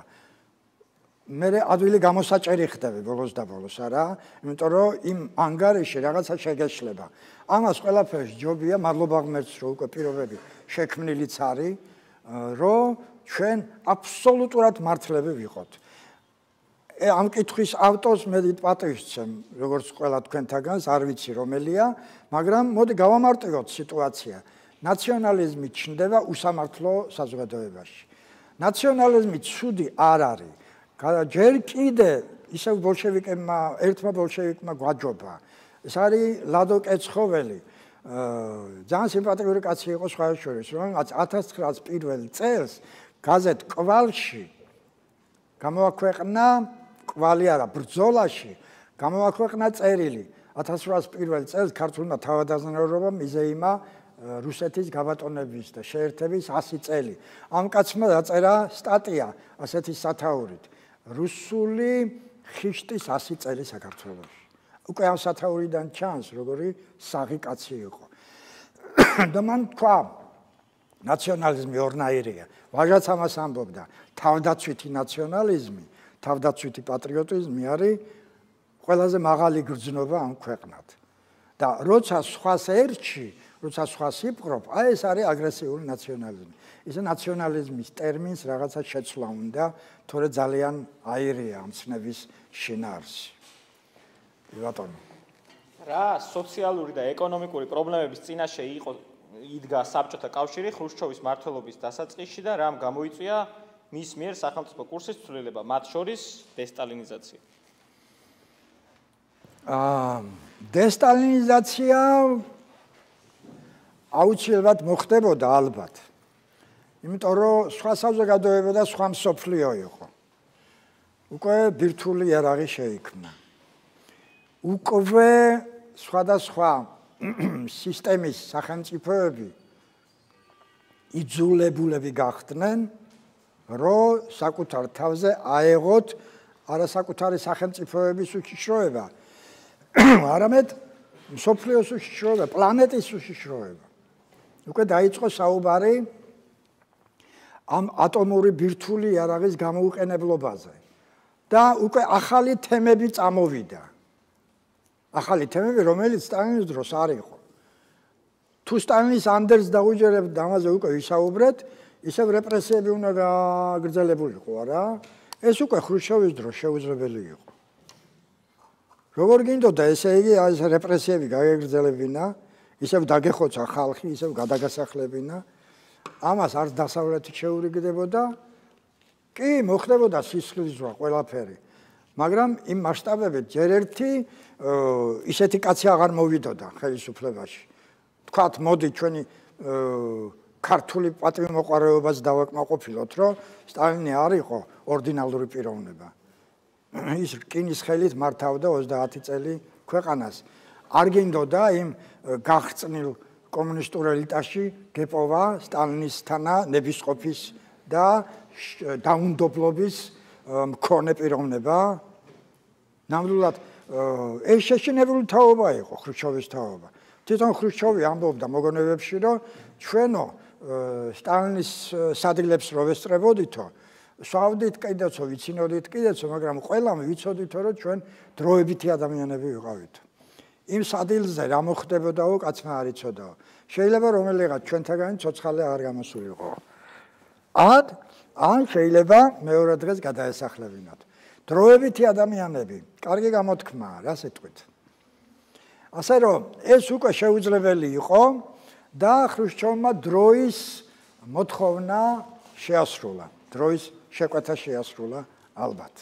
მე ადვილი გამოსაჭერი ხდები ბოლოს და ბოლოს, არა? იმიტომ რომ იმ ანგარიში რაღაცა შეგეშლება. ამას ყველაფერს ჯობია, მადლობა ღმერთს, რომ უკვე პირობები შექმნილიც არის, რომ ჩვენ აბსოლუტურად მართლები ვიყოთ. ამ კითხვის ავტორს მე პატივს ვცემ, როგორც ყველა თქვენთაგანს, არ ვიცი რომელია, მაგრამ მოდი გავამარტივოთ სიტუაცია. ნაციონალიზმი ჩნდება უსამართლო საზოგადოებაში. ნაციონალიზმი ცუდი არ არის. ჯერ კიდე ისევ ბოლშევიკებმა, ერთმა ბოლშევიკმა გვაჯობა. ეს არის ლადო კეცხოველი. ძალიან სიმპათიური კაცი იყო სხვა შორის, რომელმაც ათას ცხრაას პირველ წელს გაზეთ კვალში გამოაქვეყნა, კვალი არა, ბრძოლაში გამოაქვეყნა წერილი. ათას ცხრაას პირველ წელს ქართულმა თავადაზნაურობამ მიზეიმა რუსეთის გაბატონების და შეერთების ასი წელი. ამ კაცმა დაწერა სტატია ასეთი სათაურით. რუსული ხიშტის ასი წელი საქართველოში. უკვე ამ სათაურიდან ჩანს, როგორი საღი კაცი იყო. და მან თქვა, ნაციონალიზმი ორნაირია. ვაჟაც ამას ამბობდა, თავდაცვითი ნაციონალიზმი, თავდაცვითი პატრიოტიზმი არის ყველაზე მაღალი გრძნობა ამ ქვეყნად. და როცა სხვას ერჩი, როცა სხვას იპყრობ, აი ეს არის აგრესიული ნაციონალიზმი. ისე ნაციონალიზმის ტერმინს რაღაცა შეცვლა უნდა, თორე ძალიან აირია ამ ცნების შინაარსი. ბატონო. რა სოციალური და ეკონომიკური პრობლემების წინაშე იყო იდგა საბჭოთა კავშირი ხრუშჩოვის მმართველობის დასაწყისში და რამ გამოიწვია მის მიერ სახელმწიფო კურსის ცვლილება, მათ შორის დესტალინიზაცია. აა დესტალინიზაცია აუცილებლად მოხდებოდა ალბათ. იმიტომ რომ სხვა საზოგადოება და სხვა მსოფლიო იყო. უკვე ბირთვული იარაღი შეიქმნა. უკვე სხვადასხვა სისტემის სახელმწიფოები იძულებულები გახდნენ, რომ საკუთარ თავზე აეღოთ არასაკუთარი სახელმწიფოების უშიშროება, არამედ მსოფლიოს უშიშროება, პლანეტის უშიშროება. უკვე დაიწყო საუბარი ამ ატომური ბირთვული იარაღის გამოუყენებლობაზე და უკვე ახალი თემები წამოვიდა. ახალი თემები, რომელიც სტალინის დროს არ იყო. თუ სტალინის ანდერს დაუჯერებთ ამაზე უკვე ვისაუბრეთ, ისევ რეპრესიები უნდა გაგრძელებულიყო, არა? ეს უკვე ხრუშჩოვის დროს შეუძლებელი იყო. როგორ გინდოდა, ესე იგი, ეს რეპრესიები გაგრძელებინა, ისევ დაგეხოცა ხალხი, ისევ გადაგასახლებინა, ამას არც დასავლეთით შეურიგდებოდა, კი, მოხდებოდა სისხლისძვრა ყველაფერი. მაგრამ იმ მასშტაბებით ჯერ ერთი ისეთი კაცი აღარ მოვიდოდა ხელისუფლებაში. თქვათ, მოდი ჩვენი ქართული პატრიოტმოყვარეობას დავაკმაყოფილოთ, რომ სტალინი არ იყო ორდინალური პიროვნება. ის რკინის ხელით მართავდა ოცდაათი წელი ქვეყანას. არ გინდოდა იმ გახწნილ კომუნისტურ ელიტაში გეპოვა სტალინისთანა ნებისყოფის და დაუნდობლობის მქონე პიროვნება. ნამდვილად ეს შეშინებული თაობა იყო ხრუშჩოვის თაობა. თვითონ ხრუშჩოვი ამბობდა მოგონებებში, რომ ჩვენო სტალინის სადილებს რო ვესწრებოდითო, სვავდით კიდეცო, ვიცინოდით კიდეცო, მაგრამ ყველამ ვიცოდითო, რომ ჩვენ დროებითი ადამიანები ვიყავით. იმ სადილზე რა მოხდებოდაო, კაცმა არ იცოდაო. შეიძლება რომელიღაც ჩვენთაგანი ცოცხალი აღარ გამოსულიყო. ან ან შეიძლება მეორე დღეს გადაესახლებინათ. დროებითი ადამიანები, კარგი გამოთქმაა, რა სიტყვით. ასე რომ ეს უკვე შეუძლებელი იყო და ხრუშჩოვმა დროის მოთხოვნა შეასრულა. დროის შეკვეთა შეასრულა ალბათ.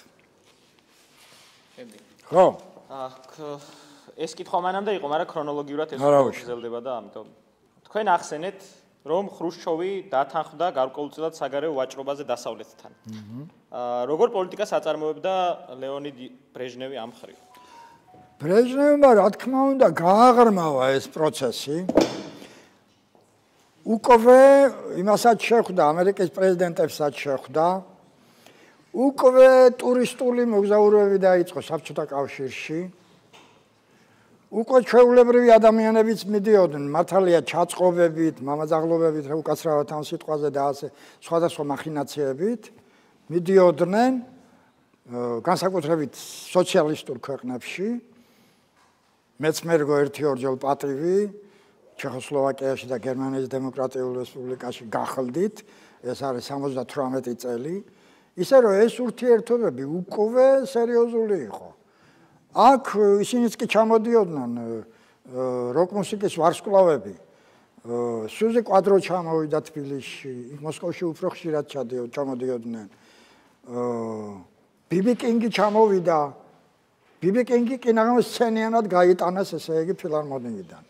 ხო? აქ ეს კითხვა მანამდე იყო, მაგრამ ქრონოლოგიურად ეს გრძელდება და ამიტომ თქვენ ახსენეთ, რომ ხრუშჩოვი დათანხმდა გარკვეულწილად საგარეო ვაჭრობაზე დასავლეთთან. აა როგორ პოლიტიკას აწარმოებდა ლეონიდ ბრეჟნევი ამ მხრივ? ბრეჟნევმა რა თქმა უნდა გააღრმავა ეს პროცესი. უკვე იმასაც შეხვდა, ამერიკის პრეზიდენტებსაც შეხვდა. უკვე ტურისტული მოგზაურობები დაიწყო საბჭოთა კავშირში. უკვე ჩვეულებრივი ადამიანებიც მიდიოდნენ, მართალია ჩაწყობებით, მამაძაღლობებით, უკაცრავად ამ სიტყვაზე და ასე სხვადასხვა მახინაციებით მიდიოდნენ განსაკუთრებით სოციალისტურ ქვეყნებში. მეც მერგო ერთი ორჯერ პატივი ჩეხოსლოვაკიაში და გერმანიის დემოკრატიულ რესპუბლიკაში გახლდით, ეს არის სამოცდათვრამეტი წელი. ისე რომ ეს ურთიერთობები უკვე სერიოზული იყო. აქ ისინიც კი ჩამოდიოდნენ როკ მუსიკის ვარსკვლავები. სუზი კვადრო ჩამოვიდა თბილისში, მოსკოვში უფრო ხშირად ჩამოდიოდნენ. ბიბი კინგი ჩამოვიდა. ბიბი კინგი კინაღამ სცენიანად გაიტანეს ესე იგი ფილარმონიიდან.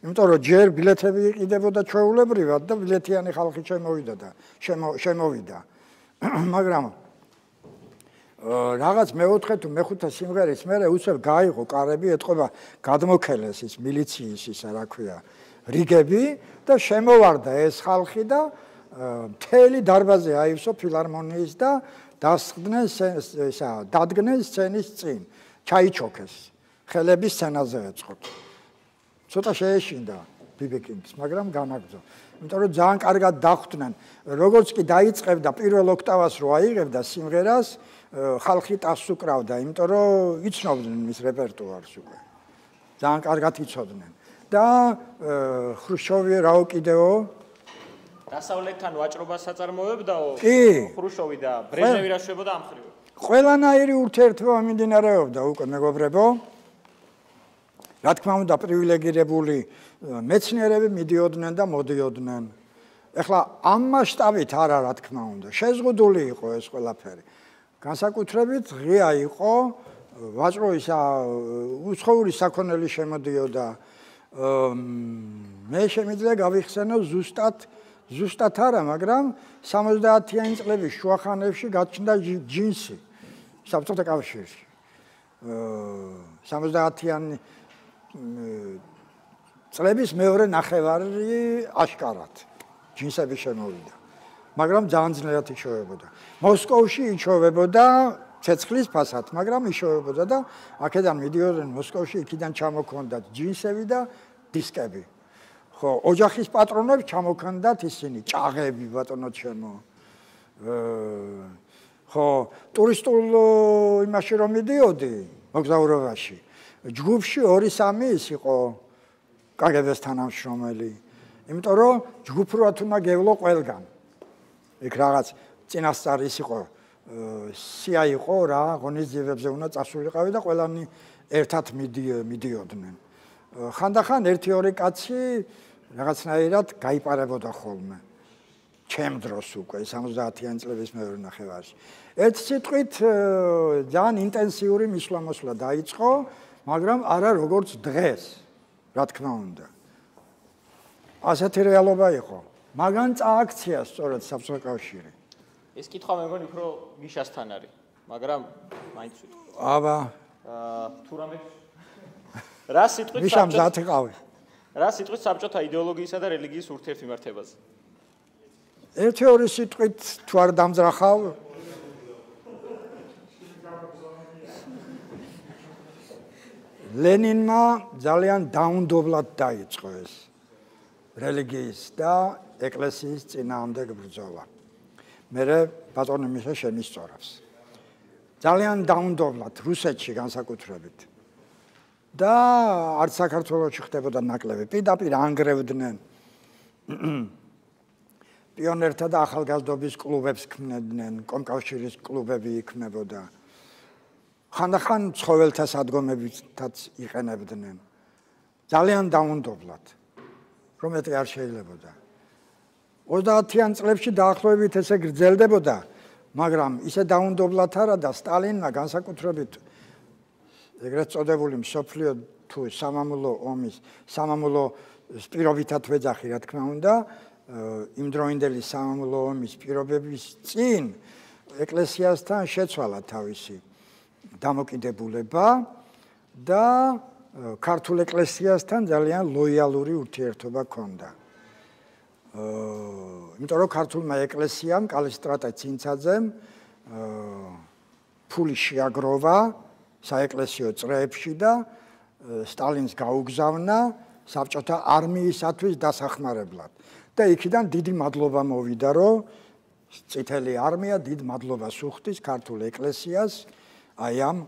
იმიტომ რომ ჯერ ბილეთები იყიდებოდა ჩვეულებრივად და ბილეთიანი ხალხი შემოვიდა და შემოვიდა. მაგრამ რაღაც მეოთხე თუ მეხუთე სიმღერის მერე უცებ გაიღო კარები, ეთყობა გადმოქელეს ის მილიციის ისა რა ქვია რიგები და შემოვარდა ეს ხალხი და მთელი დარბაზი აივსო ფილარმონიის და დასხდნენ ისა დადგნენ სცენის წინ, ჩაიჩოქეს, ხელები სცენაზე ეწყოთ. ცოტა შეეშინდა ბიბი კინგს, მაგრამ განაგრძო. იმიტომ რომ ძალიან კარგად დახვდნენ, როგორც კი დაიწყებდა პირველ ოქტავას რო აიღებდა სიმღერას, ხალხი ტასს უკრავდა, იმიტომ რომ იცნობდნენ მის რეპერტუარს უკვე. ძალიან კარგად იცოდნენ. და ხრუშოვი რაო კიდეო დასავლეთთან ვაჭრობას აწარმოებდაო ხრუშოვი და ბრეჟნევი რა შვებოდა ამ ხრივ. ყველანაირი ურთიერთობა მიმდინარეობდა უკვე მეგობრებო. რა თქმა უნდა პრივილეგირებული მეცნიერები მიდიოდნენ და მოდიოდნენ. ეხლა ამ მასშტაბით არა რა თქმა უნდა, შეზღუდული იყო ეს ყველაფერი. განსაკუთრებით ღია იყო ვაჭრობის უცხოური საქონელი შემოდიოდა. მე შემიძლია გავიხსენო ზუსტად ზუსტად არა, მაგრამ სამოცდაათიანი წლების შუახანებში გაჩნდა ჯინსი საბჭოთა კავშირში. სამოცდაათიანი წლების მეორე ნახევარი აშკარად ჯინსები შემოვიდა. მაგრამ ძალიან ძნელად იშოვებოდა. მოსკოვში იშოვებოდა ცეცხლის ფასად, მაგრამ იშოვებოდა და აქედან მიდიოდნენ მოსკოვში, იქიდან ჩამოქონდათ ჯინსები და დისკები. ხო, ოჯახის პატრონებს ჩამოქონდათ ისინი, ჭაღები ბატონო ჩემო. ხო, ტურისტულ იმაში რომ მიდიოდი, მოგზაურობაში, ჯგუფში ორი სამი ის იყო კაგებეს თანამშრომელი. იმიტომ რომ ჯგუფურად უნდა გევლო ყველგან. იქ რაღაც წინასწარი ის იყო სია იყო რა, ღონისძიებებზე უნდა წასულიყავი და ყველანი ერთად მიდიოდნენ. ხანდახან ერთი ორი კაცი რაღაცნაირად გაიპარებოდა ხოლმე. ჩემ დროს უკვე სამოცდაათიანი წლების მეორე ნახევარში. ერთ სიტყვით ძალიან ინტენსიური მისვლა-მოსვლა დაიწყო, მაგრამ არა როგორც დღეს, რა თქმა უნდა. ასეთი რეალობა იყო. მაგან წააქცია სწორედ საბჭოთა კავშირი. ეს კითხვა მე მგონი უფრო მიშასთან არის, მაგრამ მაინც ვიტყვი. აბა, თუ რამე რა სიტყვით მიშამ მზად იყავი. რა სიტყვით საბჭოთა იდეოლოგიისა და რელიგიის ურთიერთმიმართებაზე? ერთი ორი სიტყვით თუ არ დამძრახავ ლენინმა ძალიან დაუნდობლად დაიწყო ეს რელიგიის და ეკლესიის წინააღმდეგ ბრძოლა. მერე ბატონი მიშა შემისწორებს. ძალიან დაუნდობლად რუსეთში განსაკუთრებით. და არც საქართველოში ხდებოდა ნაკლები. პირდაპირ ანგრევდნენ. პიონერთა და ახალგაზრდობის კლუბებს ქმნიდნენ, კომკავშირის კლუბები იქმნებოდა. ხანდახან ცხოველთა სადგომებითაც იყენებდნენ. ძალიან დაუნდობლად. რომეთი არ შეიძლებოდა. ოცდაათიან წლებში დაახლოებით ესე გრძელდებოდა, მაგრამ ისე დაუნდობლად არა და სტალინმა განსაკუთრებით ეგრეთ წოდებული მსოფლიო თუ სამამულო ომის, სამამულო პირობითად ვეძახი, რა თქმა უნდა, იმდროინდელი სამამულო ომის პირობების წინ ეკლესიასთან შეცვალა თავისი დამოკიდებულება და ქართულ ეკლესიასთან ძალიან ლოიალური ურთიერთობა ჰქონდა. იმიტომ რომ ქართულმა ეკლესიამ კალისტრატე ცინცაძემ ფული შეაგროვა საეკლესიო წრეებში და სტალინს გაუგზავნა საბჭოთა არმიისათვის დასახმარებლად. და იქიდან დიდი მადლობა მოვიდა, რომ წითელი არმია დიდ მადლობას უხდის ქართულ ეკლესიას აი ამ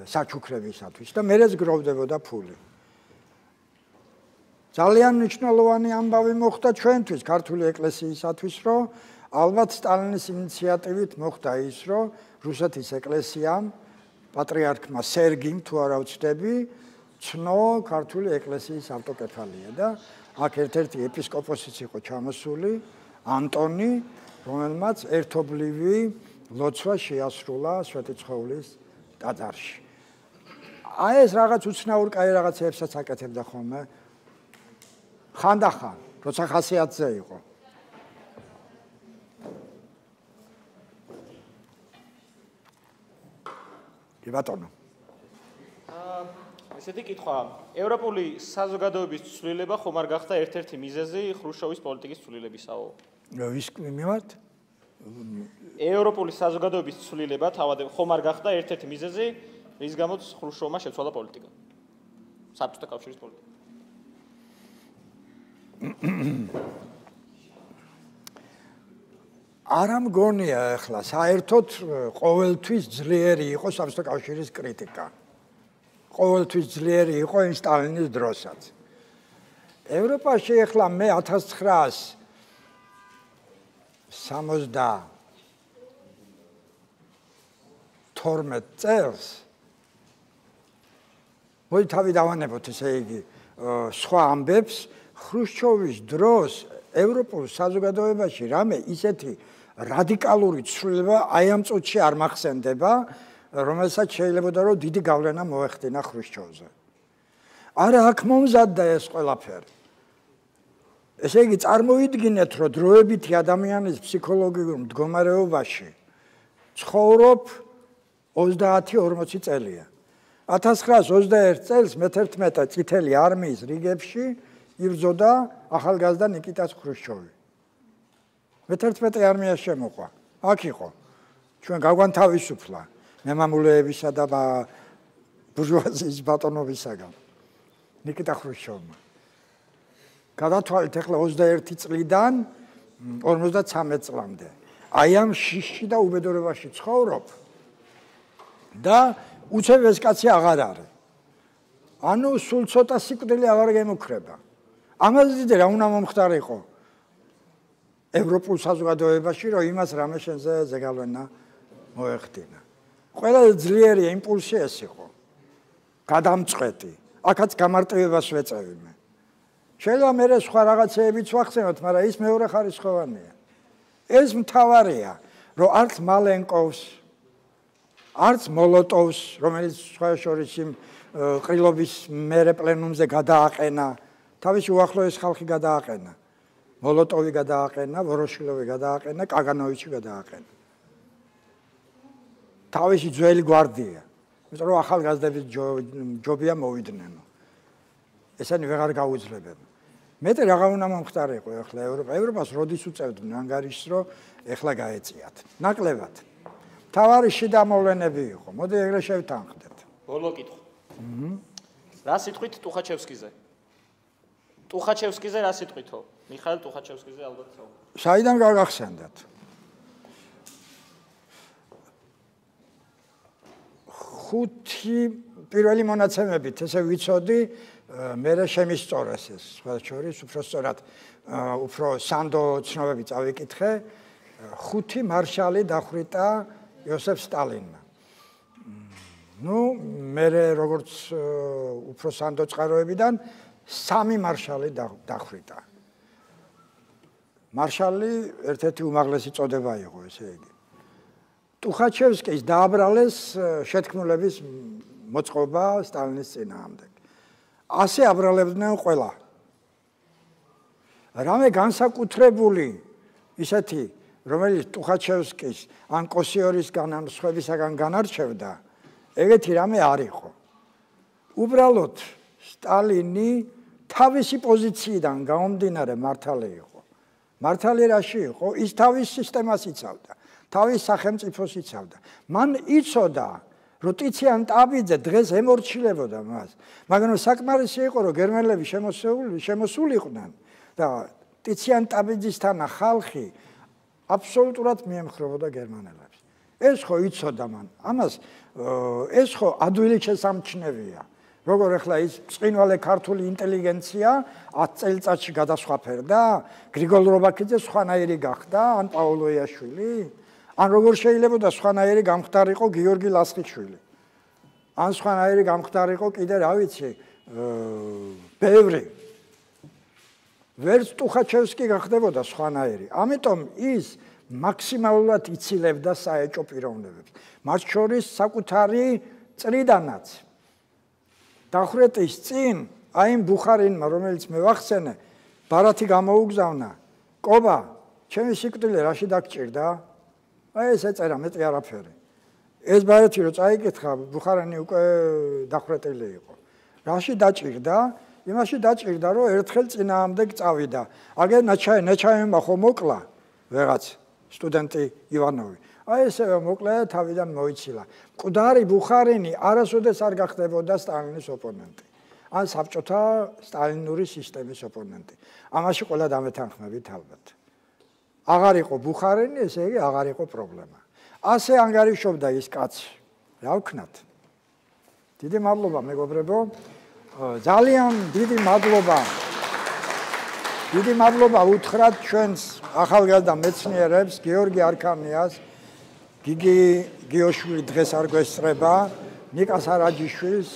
საჩუქრებისათვის და მერეც გროვდებოდა ფული. ძალიან მნიშვნელოვანი ამბავი მოხდა ჩვენთვის ქართული ეკლესიისათვის, რომ ალბათ სტალინის ინიციატივით მოხდა ის, რომ რუსეთის ეკლესიამ, პატრიარქმა სერგიმ, თუ არა ვცდები, ცნო ქართული ეკლესიის ავტოკეფალია და აქ ერთ-ერთი ეპისკოპოსიც იყო ჩამოსული, ანტონი, რომელმაც ერთობლივი ლოცვა შეასრულა სვეტიცხოვლის ტაძარში. აი ეს რაღაც უცნაურ კაი რაღაცებსაც აკეთებდა ხოლმე. ხანდახან, როცა ხასიათზე იყო. კი ბატონო. აა ესეთი კითხვა, ევროპული საზოგადოების ცვლილება ხომ არ გახდა ერთ-ერთი მიზეზი ხრუშჩოვის პოლიტიკის ცვლილებისაო? ის მიმართ? ევროპული საზოგადოების ცვლილება თავად ხომ არ გახდა ერთ-ერთი მიზეზი, რის გამოც ხრუშჩოვმა შეცვალა პოლიტიკა? საბჭოთა კავშირის პოლიტიკა. არა მგონია ახლა საერთოდ ყოველთვის ძლიერი იყო საბჭოთა კავშირის კრიტიკა. ყოველთვის ძლიერი იყო იმ სტალინის დროსაც. ევროპაში ახლა მე ათას ცხრაას სამოცდათორმეტ წელს მოდი თავი დავანებოთ, ესე იგი, სხვა ამბებს, ხრუშჩოვის დროს ევროპულ საზოგადოებაში რამე ისეთი რადიკალური ცვლილება აი ამ წუთში არ მახსენდება, რომელსაც შეიძლებოდა რომ დიდი გავლენა მოეხდინა ხრუშჩოვზე. არა აქ მომზადდა ეს ყველაფერი. ესე იგი, წარმოიდგინეთ, რომ დროებითი ადამიანის ფსიქოლოგიურ მდგომარეობაში ცხოვრობ ოცდაათი ორმოცი წელია. ათას ცხრაას ოცდაერთ წელს მეთერთმეტე წითელი არმიის რიგებში იბრძოდა ახალგაზრდა ნიკიტას ხრუშჩოვი. მეთერთმეტე არმია შემოყვა. აქ იყო. ჩვენ გაგვანთავისუფლა მემამულეებისა და ბურჟუაზიის ბატონობისაგან. ნიკიტა ხრუშჩოვმა. გადათვალეთ ახლა ოცდაერთი წლიდან ორმოცდათვრამეტ წლამდე. აი ამ შიშში და უბედურებაში ცხოვრობ და უცებ ეს კაცი აღარ არის. ანუ სულ ცოტა სიკვდილი აღარ გემუქრება. ამაზე დიდი რა უნდა მომხდარიყო ევროპულ საზოგადოებაში, რომ იმას რამე შენზე ზეგავლენა მოეხდინა. ყველაზე ძლიერი იმპულსი ეს იყო. გადამწყვეტი. აქაც გამარტივებას ვეწევი მე. შეიძლება მე სხვა რაღაცეებიც ვახსენოთ, მაგრამ ის მეორე ხარისხოვანია. ეს მთავარია, რომ არც მალენკოვს, არც მოლოტოვს, რომელიც სხვა შორის იმ ყრილობის მერე პლენუმზე გადააყენა, თავისი უახლოესი ხალხი გადააყენა. მოლოტოვი გადააყენა, ვოროშილოვი გადააყენა, კაგანოვიჩი გადააყენა. თავისი ძველი გვარდია. იმიტომ რომ ახალგაზრდების ჯობია მოვიდნენ. ესენი ვეღარ გაუძლებენ. მეტი რაღა უნდა მომხდარიყო ახლა ევროპა. ევროპას როდის უწევდნენ ანგარიშს, რომ ახლა გაეწიათ. ნაკლებად. თავარი შიდა მოვლენები იყო. მოდი ეგრე შევთანხმდეთ. ბოლო კითხვა. აჰა. რა სიტყვით ტუხაჩევსკიზე? ტუხაჩევსკიზე რა სიტყვითო? მიხაილ ტუხაჩევსკიზე ალბათ საუბრობთ. საიდან გაგახსენდათ? ხუთი პირველი მონაცემებით ესე ვიცოდი, მე შემისწორეს ეს, სხვა შორის უფრო სწორად, უფრო სანდო ცნობები წავიკითხე, ხუთი მარშალი დახვრიტა იოსებ სტალინმა. ნუ მე როგორც უფრო სანდო წყაროებიდან სამი მარშალი დახვრიტა. მარშალი ერთ-ერთი უმაღლესი წოდება იყო, ესე იგი. ტუხაჩევსკის დააბრალეს შეთქმულების მოწყობა სტალინის წინააღმდეგ. ასე აბრალებდნენ ყველა. რამე განსაკუთრებული ისეთი, რომელიც ტუხაჩევსკის ან კოსიორისგან ან სხვებისაგან განარჩევდა, ეგეთი რამე არ იყო. უბრალოდ სტალინი თავისი პოზიციიდან გამომდინარე მართალი იყო. მართალი რაში იყო? ის თავის სისტემას იცავდა, თავის სახელმწიფოს იცავდა. მან იცოდა, რომ ტიციან ტაბიძე დღეს ემორჩილებოდა მას. მაგრამ საკმარისი იყო, რომ გერმანელები შემოსული შემოსულიყვნენ და ტიციან ტაბიძისთან ხალხი აბსოლუტურად მიემხრებოდა გერმანელებს. ეს ხო იცოდა მან. ამას ეს ხო ადვილი შესამჩნევია. როგორ ახლა ის წყინვალე ქართული ინტელიგენცია ათ წელიწადში გადასხვაფერდა? გრიგოლ რობაქიძე სხვანაირი გახდა, ან პაოლოიაშვილი? ან როგორ შეიძლებოდა სხვანაირი გამხდარიყო გიორგი ლასხიშვილი? ან სხვანაირი გამხდარიყო კიდე რა ვიცი, ბევრი. ვერც ტუხაჩევსკი გახდებოდა სხვანაირი. ამიტომ ის მაქსიმალურად იცილებდა საეჭო პიროვნებებს. მათ შორის საკუთარი წრიდანაც. დახვრეტის წინ აი იმ ბუხარინმა, რომელიც მე ვახსენე, ბარათი გამოუგზავნა. კობა, ჩემი სიკვდილი რაში დაგჭირდა? აი ეს ეწერა, მეტი არაფერი. ეს ბარათი რო წაიკითხა, ბუხარინი უკვე დახვრეტილი იყო. რაში დაჭირდა? იმაში დაჭირდა, რომ ერთხელ წინააღმდეგ წავიდა. აგერ ნაჩაი, ნაჩაიმმა ხო მოკლა ვეღაც სტუდენტი ივანოვი. აი ესევე მოკლა და თავიდან მოიცილა. მკვდარი ბუხარინი არასოდეს არ გახდებოდა სტალინის ოპონენტი. ან საბჭოთა სტალინური სისტემის ოპონენტი. ამაში ყველა დამეთანხმებით ალბათ. აღარ იყო ბუხარინი, ესე იგი აღარ იყო პრობლემა. ასე ანგარიშობდა ის კაცი. რა ვქნათ? დიდი მადლობა მეგობრებო. ძალიან დიდი მადლობა. დიდი მადლობა უთხრათ ჩვენს ახალგაზრდა მეცნიერებს, გიორგი არქანიას, გიგი გიოშვილი დღეს არ გვესწრება, ნიკას არაჯიშვილს,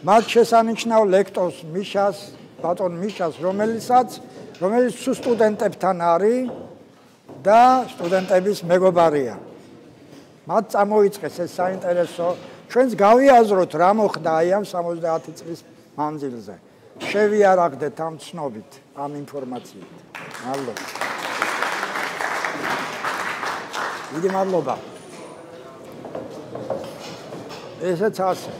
მათ შესანიშნავ ლექტორს მიშას, ბატონ მიშას, რომელიცაც, რომელიც სულ სტუდენტებთან არის და სტუდენტების მეგობარია. მათ წამოიწყეს ეს საინტერესო, ჩვენს გავიაზროთ რა მოხდა აი ამ სამოცდაათი წლის მანძილზე. შევიარაღდეთ ამ ცნობით, ამ ინფორმაციით. მადლობა. დიდი მადლობა. ესეც ასე.